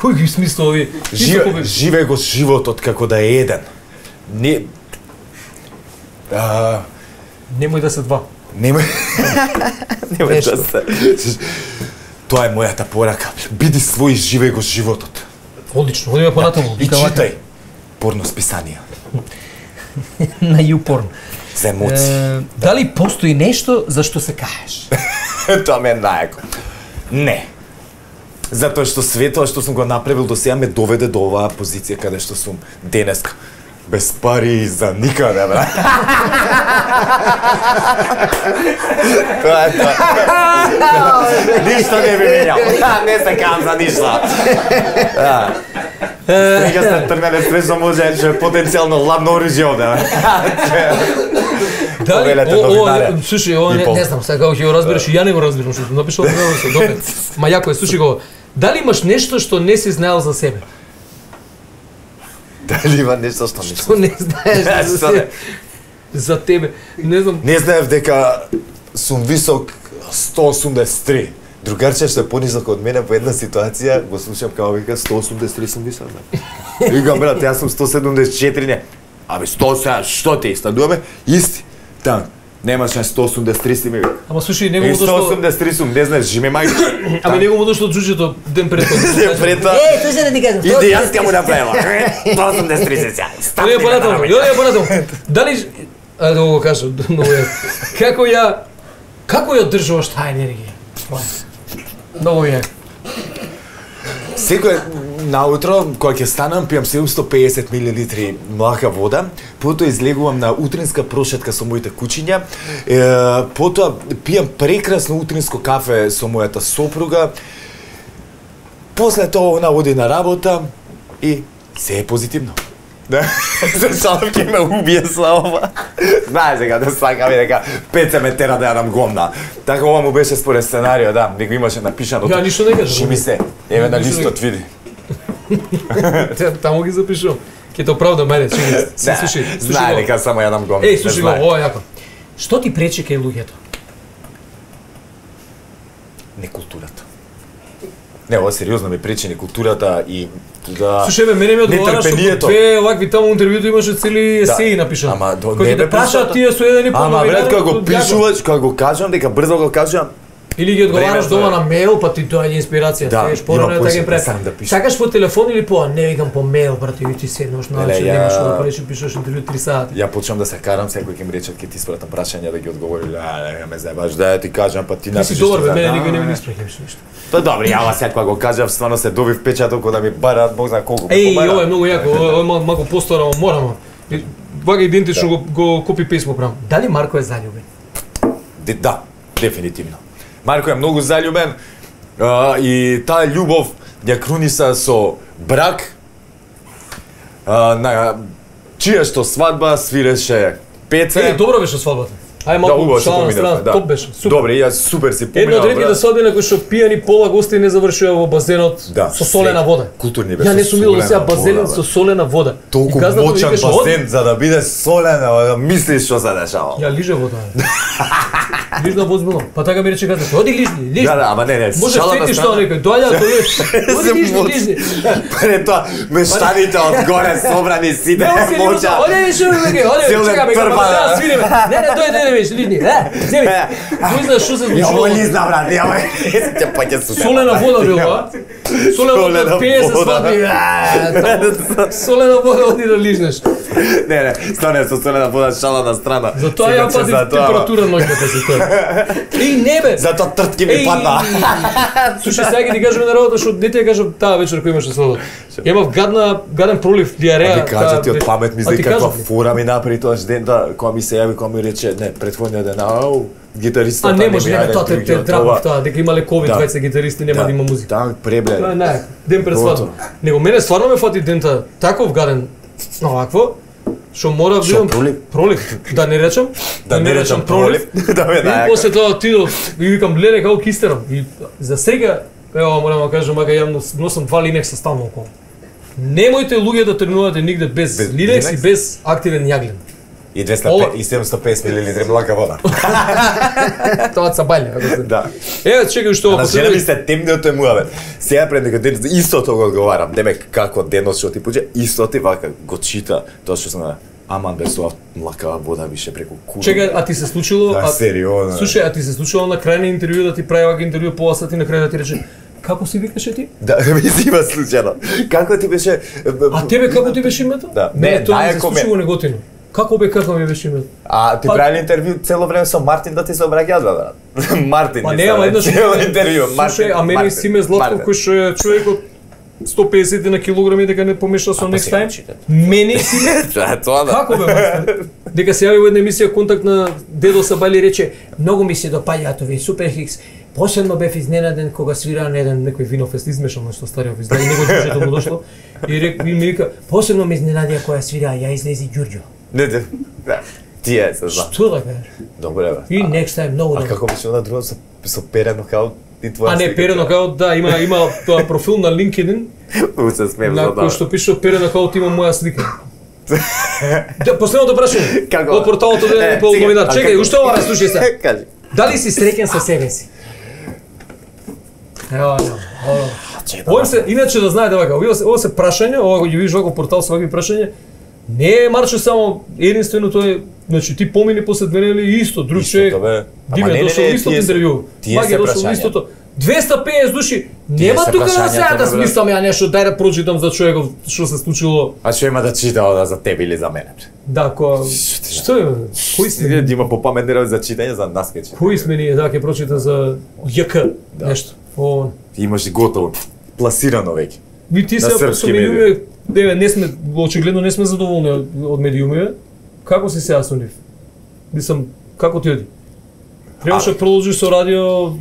Speaker 1: Кој ги смисла овие?
Speaker 2: Живе, живе го животот како да е еден. Не а,
Speaker 1: Немој да се два.
Speaker 2: Немој Немој да се. Тоа е мојата порака. Биди свој, живеј го животот.
Speaker 1: Одлично, одиме понатаму.
Speaker 2: И читај порно списанија.
Speaker 1: На YouPorn.
Speaker 2: За емоции.
Speaker 1: Е, дали постои нешто за што се каеш?
Speaker 2: Тоа ме е најако. Не. Затоа што светот што сум го направил до сега ме доведе до оваа позиција каде што сум денеска. Без пари за никаде, бра. Тоа е тоа. Ништо не би менјал. Не се кам за ништо. Сега сте тргнале свежо може, че потенцијално ладно оружје овде.
Speaker 1: Дали, о, о, слушай, о, не, не знам, сега ќе го разбереш, ја не го разбирам што ти напишал, не се добре. Ма јако е, слушай го. Дали имаш нешто што не си знаел за себе?
Speaker 2: Дали има нешто што не
Speaker 1: Што не знаеш за себе? За тебе, не знам.
Speaker 2: Не знаев дека сум висок сто осумдесет и три. Другарче што е понисок од мене по една ситуација, го слушам како вика сто осумдесет и три сум висок. Викам брат, јас сум сто седумдесет и четири, не. Абе сто осумдесет, што те стануваме? Исти. Там. Немаше сто осумдесет и три си ми вика.
Speaker 1: Ама слушай, него
Speaker 2: И
Speaker 1: му
Speaker 2: сто
Speaker 1: дошло.
Speaker 2: осумдесет и три сум, не знаеш, жиме мајка.
Speaker 1: Ама него му дошло джуџето ден пред тоа.
Speaker 2: Ден пред тоа.
Speaker 5: Е, тој се да ти кажам.
Speaker 2: Иди јас ќе му направам. сто осумдесет и три се сега.
Speaker 1: Одиме понатаму, одиме понатаму. Дали ајде да го кажам, многу е. Како ја како ја одржуваш таа енергија? Многу е.
Speaker 2: Секој наутро, кога ќе станам, пијам седумсто и педесет милилитри млака вода, потоа излегувам на утринска прошетка со моите кучиња, е, потоа пијам прекрасно утринско кафе со мојата сопруга, после тоа она оди на работа и се е позитивно. Да, се шалам ќе ме убие со ова. Знаеш дека да сакам и дека пет ме тера да јадам гомна. Така ова му беше според сценарио, да, дека имаше напишано.
Speaker 1: Ја ништо не кажам.
Speaker 2: Шими се. Еве на
Speaker 1: Ништо не
Speaker 2: листот види.
Speaker 1: Таму ги запишувам. Ќе те оправдам, ајде, чекај. Се слушај, слушај.
Speaker 2: Знае
Speaker 1: го.
Speaker 2: дека само јадам гомна.
Speaker 1: Еј, слушај го, ова е јако. Што ти пречи кај луѓето?
Speaker 2: Не културата. Не, ова сериозно ми пречи не културата и да.
Speaker 1: Слушај, бе, мене ми одговараш што
Speaker 2: нетрпението.
Speaker 1: две овакви таму интервјуто имаше цели есеи напишани.
Speaker 2: Ама до
Speaker 1: Кој
Speaker 2: не
Speaker 1: ќе те
Speaker 2: бе
Speaker 1: прашаат
Speaker 2: прашаат.
Speaker 1: тие со еден и пол
Speaker 2: Ама
Speaker 1: новинар,
Speaker 2: брат, кога го
Speaker 1: јако.
Speaker 2: пишуваш, кога го кажам, дека брзо го кажам,
Speaker 1: Или ги одговараш
Speaker 2: Времето
Speaker 1: дома
Speaker 2: е.
Speaker 1: на мејл, па ти доаѓа инспирација.
Speaker 2: Да,
Speaker 1: Сееш
Speaker 2: има
Speaker 1: порано е така
Speaker 2: почет,
Speaker 1: ги прави.
Speaker 2: не сакам да пишам.
Speaker 1: Сакаш по телефон или по, не викам по мејл, брате, и ти седнеш на
Speaker 2: Леле,
Speaker 1: начин,
Speaker 2: ја-
Speaker 1: немаш да поречи пишеш интервју три сати.
Speaker 2: ја почнам да се карам, секој ќе ми рече ќе ти испратам прашања да ги одговори, а не ме заебаш, да ја ти кажам, па ти
Speaker 1: Ти си
Speaker 2: напишеш.
Speaker 1: добар, бе,
Speaker 2: тоа,
Speaker 1: мене
Speaker 2: да.
Speaker 1: никој не ми испраќаш ништо.
Speaker 2: Тоа добро, ја ова сега го кажав, стварно се доби впечаток кога да ми бараат бог знае колку.
Speaker 1: Еј,
Speaker 2: побара.
Speaker 1: ова е многу јако, ова е мал- малку постарано, морам. Вага идентично го, го копи писмо правам. Дали Марко е заљубен?
Speaker 2: Де- Да, дефинитивно. Марко е многу заљубен а, и таа љубов ја круниса со брак а, на чија што свадба свиреше Пеце.
Speaker 1: Е, добро беше свадбата. Ај
Speaker 2: Да,
Speaker 1: малку
Speaker 2: убаво се
Speaker 1: шала на страна,
Speaker 2: поминавме, да.
Speaker 1: топ беше, супер.
Speaker 2: Добре, јас супер си поминав.
Speaker 1: Едно од редките
Speaker 2: брат.
Speaker 1: свадби на кои што пијани пола гости не завршува во базенот
Speaker 2: Да,
Speaker 1: со солена
Speaker 2: се-
Speaker 1: вода.
Speaker 2: културни бе,
Speaker 1: Ја
Speaker 2: со
Speaker 1: не сум видел до сега
Speaker 2: солена
Speaker 1: базен
Speaker 2: вода,
Speaker 1: со
Speaker 2: бе.
Speaker 1: солена вода.
Speaker 2: Толку
Speaker 1: И газдата ми
Speaker 2: мочан
Speaker 1: викаше, «Оди».
Speaker 2: базен за да биде солена, да мислиш што се дешава.
Speaker 1: Ја лиже вода. бе. Лижна возбилно. Па така ми рече газдата, оди лижни, лижни.
Speaker 2: Да, да, ама не, не,
Speaker 1: Може
Speaker 2: шалата
Speaker 1: сетиш
Speaker 2: страна.
Speaker 1: тоа некој, доаѓа тоа. Оди
Speaker 2: Се
Speaker 1: лижни,
Speaker 2: моц-
Speaker 1: лижни.
Speaker 2: Пред тоа, мештаните од горе собрани сите
Speaker 1: Не, оси
Speaker 2: моча.
Speaker 1: Оди више, оди, оди,
Speaker 2: Целен
Speaker 1: чекаме,
Speaker 2: трпа,
Speaker 1: како
Speaker 2: да.
Speaker 1: да свириме. Не, не, дојде, не, виж, лижни. Е, земи. Кој знае што се
Speaker 2: Ја
Speaker 1: случува?
Speaker 2: ова лизна, брат, ја ова ќе паќе со
Speaker 1: Солена вода била. Солена вода
Speaker 2: Солена
Speaker 1: пие се
Speaker 2: вода.
Speaker 1: свадби. Е, Солена вода оди да лижнеш.
Speaker 2: Не, не, стане со солена вода шала на страна.
Speaker 1: Затоа
Speaker 2: Сега
Speaker 1: ја
Speaker 2: че
Speaker 1: пати
Speaker 2: за тоа,
Speaker 1: температура ноќната се тоа. Еј, не бе.
Speaker 2: Затоа тртки ми
Speaker 1: Еј,
Speaker 2: падна.
Speaker 1: Слушај, сега ќе ти кажам на работа што не ти ја кажам таа вечер кој имаше свадба. Имав гадна гаден пролив, диареја.
Speaker 2: А ти кажа ти од
Speaker 1: таа-
Speaker 2: памет ми
Speaker 1: А
Speaker 2: знај
Speaker 1: ти
Speaker 2: каква
Speaker 1: кажав ли?
Speaker 2: фура ми направи тоа ден да кога ми се јави, кога ми рече не, претходниот ден, ау, гитаристот
Speaker 1: А не може, не, тоа те те драпав тоа, дека имале ковид,
Speaker 2: Да.
Speaker 1: двајца гитаристи, нема да има музика.
Speaker 2: Так, пребле.
Speaker 1: Тоа е најако. Ден пред
Speaker 2: Готово.
Speaker 1: свадба. Него мене стварно ме фати дента таков гаден овакво, Што мора да
Speaker 2: Шо,
Speaker 1: бидам
Speaker 2: пролив?
Speaker 1: пролив, да не речам,
Speaker 2: Да не речам пролив, да ме
Speaker 1: И
Speaker 2: дај.
Speaker 1: после тоа отидов и викам гледај како кистерам. И за сега, ево морам да кажам, мака ја нос- носам два линекса стално околу. Немојте луѓе да тренувате нигде без,
Speaker 2: Без
Speaker 1: линекс и
Speaker 2: линекс?
Speaker 1: без активен јаглен.
Speaker 2: И двеста
Speaker 1: Ова-
Speaker 2: и седумстотини и песет милилитри блака вода.
Speaker 1: Тоа са баља. ако се-
Speaker 2: Да.
Speaker 1: Еве чекај што
Speaker 2: А на
Speaker 1: ако
Speaker 2: жена ми
Speaker 1: се
Speaker 2: се темниот е муавет. Сега пред дека ден истото го одговарам. Деме како денот што ти пуѓе, исто ти вака го чита тоа што сме аман без ова млакава вода више преку кура.
Speaker 1: чекај, а ти се случило,
Speaker 2: Да,
Speaker 1: а
Speaker 2: сериозно.
Speaker 1: слушај, а ти се случило на крај на интервју да ти прави вака интервју пола сати на крај да ти рече како си викаше ти?
Speaker 2: Да, ми си има случајно. Како ти беше?
Speaker 1: А тебе како ти беше името?
Speaker 2: Да.
Speaker 1: Не,
Speaker 2: Не,
Speaker 1: тоа ми се
Speaker 2: најако ми-
Speaker 1: случило неготино. Како бе како ми беше името?
Speaker 2: А ти
Speaker 1: Па-
Speaker 2: правили интервју цело време со Мартин да ти се обраќаат, брат? Мартин.
Speaker 1: Па
Speaker 2: ми
Speaker 1: не,
Speaker 2: се
Speaker 1: ама еднаш
Speaker 2: цело интервју.
Speaker 1: Слушај, а мене Симе Златков кој што е човек од сто и песет на килограми дека не помеша со
Speaker 2: А, па
Speaker 1: Next
Speaker 2: сега
Speaker 1: Time.
Speaker 2: читат.
Speaker 1: Мене Симе
Speaker 2: Да, тоа да.
Speaker 1: Како бе? мастер? Дека се јави во една емисија контакт на Дедо Сабали и рече многу ми се допаѓаат овие Суперхикс. Посебно бев изненаден кога свира на еден некој винофест измешано што стариот издаде него дружето му дошло и рек и ми вика посебно ме изненадија кога свира ја излези Ѓурѓо.
Speaker 2: Не, не. Да. Тие се знам.
Speaker 1: Што да кажеш?
Speaker 2: Добре, бе.
Speaker 1: И Next Time многу
Speaker 2: А
Speaker 1: добро.
Speaker 2: како беше на друго со со перено као и твоја
Speaker 1: А не
Speaker 2: слика?
Speaker 1: Перено као да има има тоа профил на LinkedIn
Speaker 2: У се смеем
Speaker 1: на
Speaker 2: за
Speaker 1: кој
Speaker 2: тоа.
Speaker 1: што пише Перено као има моја слика. Да, последното прашање.
Speaker 2: Како?
Speaker 1: Од порталот од
Speaker 2: Е,
Speaker 1: еден и пол
Speaker 2: сега,
Speaker 1: новинар.
Speaker 2: а
Speaker 1: Чекај,
Speaker 2: како?
Speaker 1: уште ова слушај се.
Speaker 2: Кажи.
Speaker 1: Дали си среќен со себе си? Ева, ева. Овој се, иначе да знаете вака, ова се, ова се прашање, ова го ги видиш вака портал со вакви прашања, не е Марче само единствено тој, значи ти помини после две недели и исто, друг
Speaker 2: Истото,
Speaker 1: човек,
Speaker 2: бе. Ама
Speaker 1: Диме
Speaker 2: не, не,
Speaker 1: дошол
Speaker 2: не,
Speaker 1: истото
Speaker 2: тие се-
Speaker 1: интервју,
Speaker 2: тие
Speaker 1: Маги
Speaker 2: се
Speaker 1: дошол
Speaker 2: прашањата.
Speaker 1: истото. двеста и песет души,
Speaker 2: Тие
Speaker 1: нема
Speaker 2: се
Speaker 1: тука да
Speaker 2: прашањата,
Speaker 1: сега да
Speaker 2: бе, брат.
Speaker 1: смислам ја нешто, дај да прочитам за човеков што се случило.
Speaker 2: А што има да чита ода за тебе или за мене?
Speaker 1: Да, ко што е? Кои сме?
Speaker 2: Сега има попаметни работи за читање за нас ке чита.
Speaker 1: Кои сме ние, да ќе прочита за ЈК,
Speaker 2: Да.
Speaker 1: нешто. О,
Speaker 2: Имаш и готово, пласирано веќе.
Speaker 1: Ви ти
Speaker 2: На
Speaker 1: се со
Speaker 2: српски
Speaker 1: медиуми, еве не сме очигледно не сме задоволни од, од медиуми. Како си сега со нив? Мислам, како ти оди? Требаше да продолжиш со радио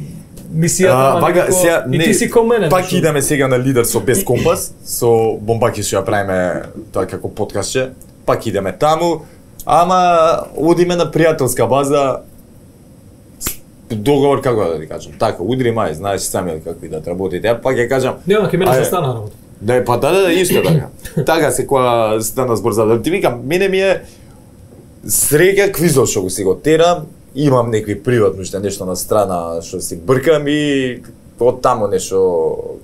Speaker 1: мисијата,
Speaker 2: А,
Speaker 1: ама
Speaker 2: вага,
Speaker 1: некако-
Speaker 2: сега,
Speaker 1: и ти си као мене.
Speaker 2: Пак
Speaker 1: нешто.
Speaker 2: идеме сега на Лидер со Без Компас, со Бомбаки што ја правиме тоа како подкастче. Пак идеме таму, ама одиме на пријателска база, договор како да ти кажам. Така, удри мај, знаеш сами како и да работите. Ја пак ја кажам.
Speaker 1: Нема ке мене
Speaker 2: ајде.
Speaker 1: се стана работа.
Speaker 2: Да, па да, да, исто така. Така се кога стана збор за да ти викам, мене ми е среќа квизот што го си го терам, имам некои приватно уште нешто на страна што си бркам и од таму нешто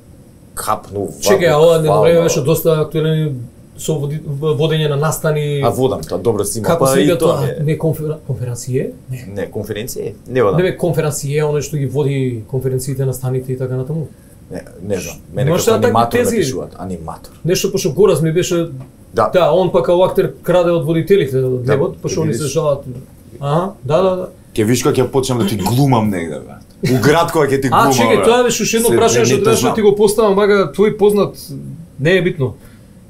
Speaker 2: хапну ваку.
Speaker 1: Чекај, а ова не
Speaker 2: хвално.
Speaker 1: време беше доста актуелен со води- водење на настани.
Speaker 2: А водам тоа, добро си има,
Speaker 1: Како
Speaker 2: па
Speaker 1: се
Speaker 2: и
Speaker 1: вика
Speaker 2: тоа
Speaker 1: тоа?
Speaker 2: е.
Speaker 1: Не конфер... конференције? Не.
Speaker 2: Не, конференција? Не водам.
Speaker 1: Не бе конференције, оној што ги води конференциите на станите и така натаму.
Speaker 2: Не, не знам. Мене
Speaker 1: Може
Speaker 2: како
Speaker 1: да такви
Speaker 2: аниматор да
Speaker 1: тези-
Speaker 2: пишуваат, аниматор.
Speaker 1: Нешто пошто Гораз ми беше
Speaker 2: Да.
Speaker 1: да, он пак као актер краде од водителите од
Speaker 2: Да,
Speaker 1: небот, пошто они се
Speaker 2: видиш.
Speaker 1: жалат. Аха, да, да, да.
Speaker 2: Ќе виш кога ќе почнам да ти глумам негде, бе. У град кога ќе ти глумам.
Speaker 1: А, чекај,
Speaker 2: бе.
Speaker 1: тоа беше уште едно
Speaker 2: Се-
Speaker 1: прашање
Speaker 2: не,
Speaker 1: што
Speaker 2: не
Speaker 1: требаше да
Speaker 2: знам.
Speaker 1: ти го поставам, мага твој познат не е битно.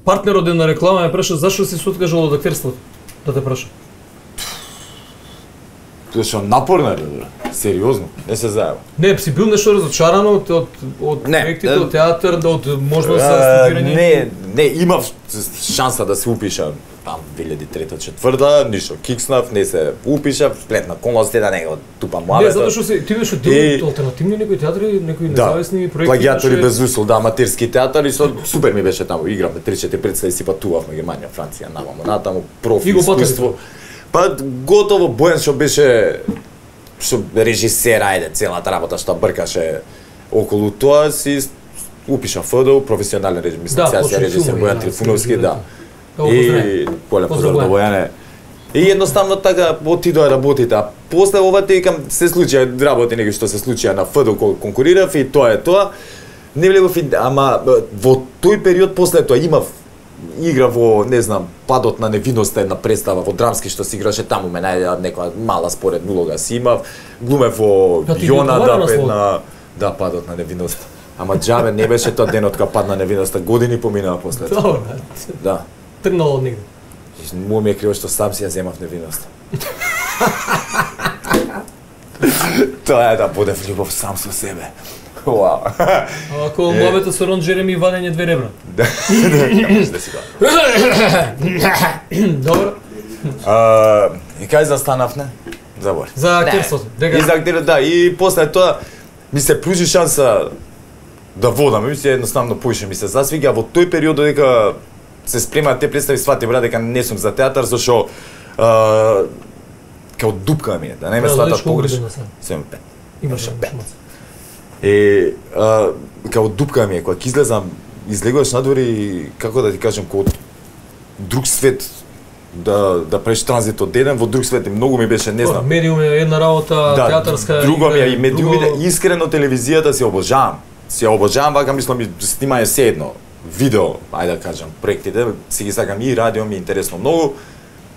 Speaker 1: Партнерот на реклама ме праша зашто си се откажал од актерството. Да те праша.
Speaker 2: Тоа што напорно е, бе. Сериозно, не се заеба.
Speaker 1: Не, си бил нешто разочаран од од од
Speaker 2: Не,
Speaker 1: проектите,
Speaker 2: е,
Speaker 1: од театар, од можност за
Speaker 2: А,
Speaker 1: студирање?
Speaker 2: Не, не, имав шанса да се упишам там две илјади и трета четврта, ништо кикснав, не се упишав, сплетна околности да не го тупам
Speaker 1: Не,
Speaker 2: муавето.
Speaker 1: затоа што се ти беше
Speaker 2: И-
Speaker 1: дел од алтернативни некои театри, некои
Speaker 2: Да,
Speaker 1: независни проекти.
Speaker 2: плагиатори
Speaker 1: беше-
Speaker 2: без усол, да, аматерски театар и со супер ми беше таму, игравме три-четири представи, си патувавме Германија, Франција, наваму, натаму, профи,
Speaker 1: И го патали
Speaker 2: искуство. Па готово Бојан што беше што режисер, ајде, целата работа што бркаше околу тоа, си упиша ФДУ, професионален режим, мислам,
Speaker 1: Да,
Speaker 2: сега си
Speaker 1: почна
Speaker 2: режисер
Speaker 1: филмови,
Speaker 2: Бојан
Speaker 1: да,
Speaker 2: Трифуновски, да.
Speaker 1: Го
Speaker 2: И
Speaker 1: поздравам.
Speaker 2: голем поздрав
Speaker 1: Поздрав,
Speaker 2: до Бојане. И едноставно така отидоа работите, а после ова ти викам се случија работи неги што се случија на ФДУ кога конкурирав и тоа е тоа. Не влегов и ама во тој период после тоа имав игра во, не знам, Падот на невиноста, една представа во драмски што се играше таму, ме најдеа некоја мала споредна улога си имав. Глумев во
Speaker 1: Да, ти ги
Speaker 2: Јона
Speaker 1: одговара
Speaker 2: да
Speaker 1: на
Speaker 2: пет
Speaker 1: слово.
Speaker 2: на да Падот на невиноста. Ама џабе не беше тоа денот кога падна невиноста, години поминаа после тоа.
Speaker 1: Добро,
Speaker 2: Да.
Speaker 1: тргнало од негде.
Speaker 2: Му ми е криво што сам си ја земав невиноста. Тоа е да будев љубов сам со себе. Вау.
Speaker 1: Ако муабетот со Рон Джереми вадење две ребра.
Speaker 2: Да, да си го.
Speaker 1: Добро.
Speaker 2: А, и кај застанавме? Забори.
Speaker 1: За актерството.
Speaker 2: И за актерот, да, и после тоа ми се пружи шанса да водам, ми се едноставно поише ми се засвига во тој период додека се спремаат те представи, свати брат дека не сум за театар, зашо а, као дупка ми е, да не ме сватат погрешно. седум пет.
Speaker 1: Имаше пет.
Speaker 2: Е, а, као дупка ми е, кога ќе излезам, излегуваш надвор и како да ти кажам, као друг свет, да да правиш транзит од еден во друг свет, и многу ми беше, не знам.
Speaker 1: Медиум е една работа,
Speaker 2: да,
Speaker 1: театарска.
Speaker 2: Друго ми е и медиумите,
Speaker 1: друго...
Speaker 2: искрено телевизијата си обожавам. Си обожавам, вака мислам ми снимање се едно видео, ајде да кажам, проектите, си ги сакам и радио ми е интересно многу,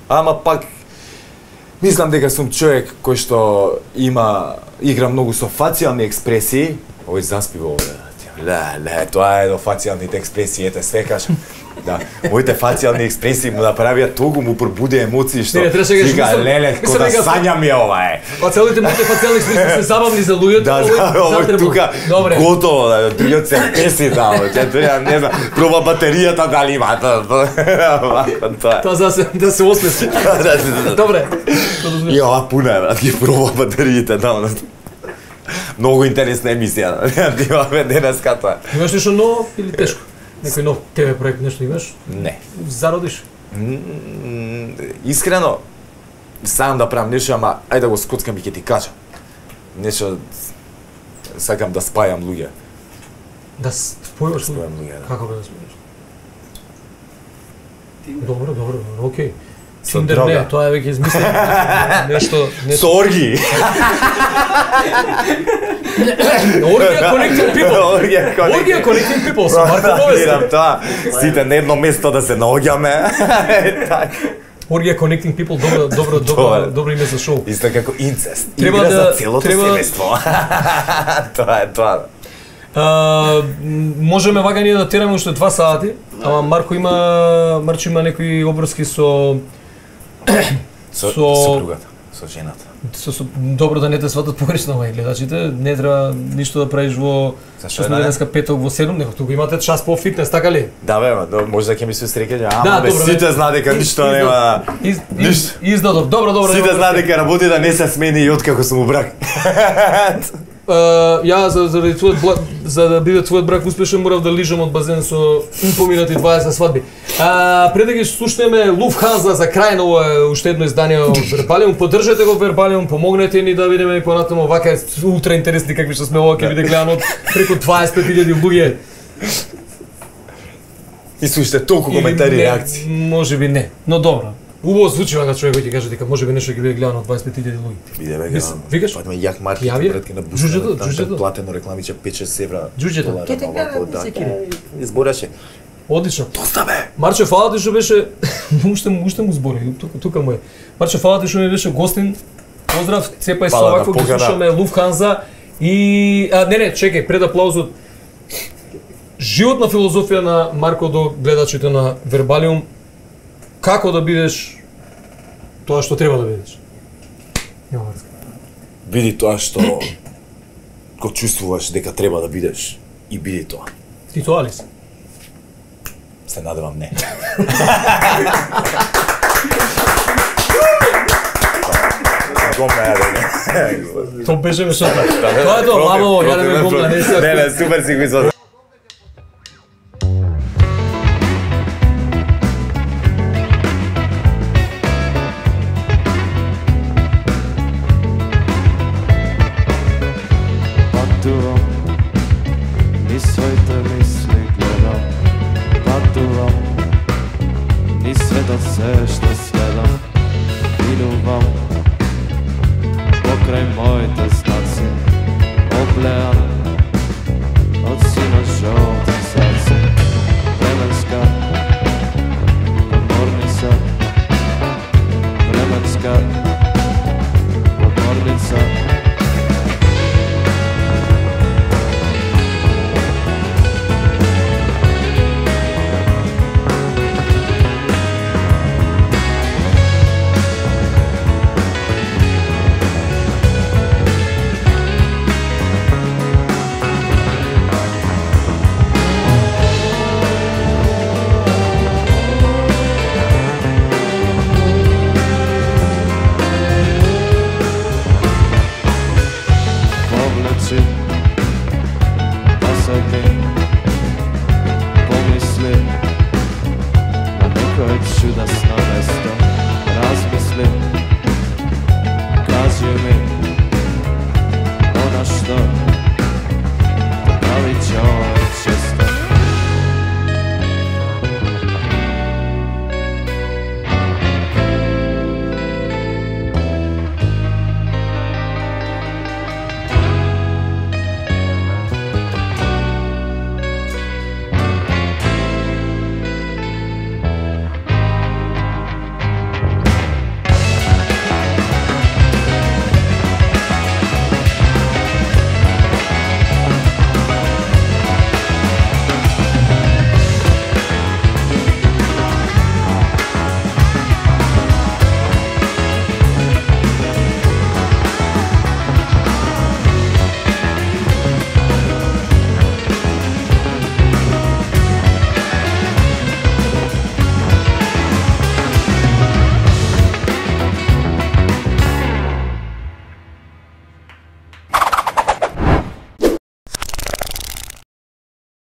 Speaker 2: ама пак мислам дека сум човек кој што има игра многу со фацијални експресии. Ој заспи во овде. Ле, ле, тоа е до фацијалните експресии, ете све кажам. Да, моите фацијални експресии му направија толку, му пробуди емоции што вика, леле, ко да сањам ја ова е.
Speaker 1: Па целите моите фацијални експресии се забавни за луѓето.
Speaker 2: Да, да, овој тука готово, другиот се песи да, тоа не знам, проба батеријата дали има.
Speaker 1: Тоа за се да се осмеси. Добре.
Speaker 2: И ова пуна е, брат, ги проба батериите да. Многу интересна емисија, ти имаме денеска тоа.
Speaker 1: Имаш нешто ново или тешко? Некој нов ТВ проект нешто имаш?
Speaker 2: Не.
Speaker 1: Зародиш?
Speaker 2: Искрено, сакам да правам нешто, ама ајде да го скоцкам и ќе ти кажам. Нешто, сакам да спајам луѓе.
Speaker 1: Да спојуваш
Speaker 2: луѓе?
Speaker 1: Како да спојуваш? Добро, добро, окей. Тиндер не, тоа е веќе измислено. Нешто, нешто.
Speaker 2: Со орги.
Speaker 1: Оргија Connecting People. Оргија Connecting People со Марко Новесник.
Speaker 2: Тоа, сите на едно место да се наоѓаме.
Speaker 1: Оргија Connecting People, добро, добро, добро, добро име за шоу.
Speaker 2: Исто како инцест.
Speaker 1: Треба
Speaker 2: Игра
Speaker 1: да
Speaker 2: за целото
Speaker 1: треба...
Speaker 2: семејство. Тоа е тоа.
Speaker 1: Uh, можеме вака ние да тераме уште два сати, ама Марко има Марчо има некои обврски со
Speaker 2: со сопругата, со жената.
Speaker 1: Со, со добро да не те сватат погрешно овај гледачите, не треба ништо да правиш во што сме денеска петок во седум, него тука имате час по фитнес, така ли?
Speaker 2: Да бе, ма, може да ќе ми се среќа, ама
Speaker 1: да,
Speaker 2: бе,
Speaker 1: добро,
Speaker 2: сите
Speaker 1: бе,
Speaker 2: знаат дека ништо нема.
Speaker 1: Из, из, издадов, добро, добро.
Speaker 2: Сите знаат дека работи да не се смени и откако сум у брак.
Speaker 1: Uh, ја за за твојот бла... за да биде твојот брак успешен морав да лижам од базен со поминати дваесет свадби. А uh, пред да ги слушнеме Lufthansa за крај на ова уште едно издание од Вербалиум, поддржете го Вербалиум, помогнете ни да видиме и понатаму вака е ултра интересни какви што сме ова ќе биде гледано од преку дваесет и пет илјади луѓе.
Speaker 2: И слушате толку коментари и реакции.
Speaker 1: Можеби не, но добро. Убаво звучи вака човек кој ќе каже дека можеби нешто ќе биде гледано од дваесет и пет илјади луѓе.
Speaker 2: Биде веќе.
Speaker 1: Викаш?
Speaker 2: Па јак маркетинг претки на бусата.
Speaker 1: Джуџето, джуџето.
Speaker 2: Платено рекламиче пет-шест евра.
Speaker 1: Джуџето.
Speaker 2: Ке те гледам секири. Избораше.
Speaker 1: Одлично.
Speaker 2: Доста бе.
Speaker 1: Марче, фала ти што беше уште уште му збори, тука тука му е. Марче, фала ти што ми беше гостин. Поздрав, цепај се овако, ги слушаме Lufthansa и а, не не, чекај, пред аплаузот. Животна филозофија на Марко до гледачите на Вербалиум. Како да бидеш тоа што треба да бидеш?
Speaker 2: Биди тоа што го чувствуваш дека треба да бидеш и биди тоа.
Speaker 1: Ти тоа ли си?
Speaker 2: Се надевам не.
Speaker 1: Тоа беше мешата. Тоа е тоа, мамаво, ја да ме гомна, не се.
Speaker 2: Не, не, супер си го извадил.
Speaker 6: Pokraj moje te znacje, oblejam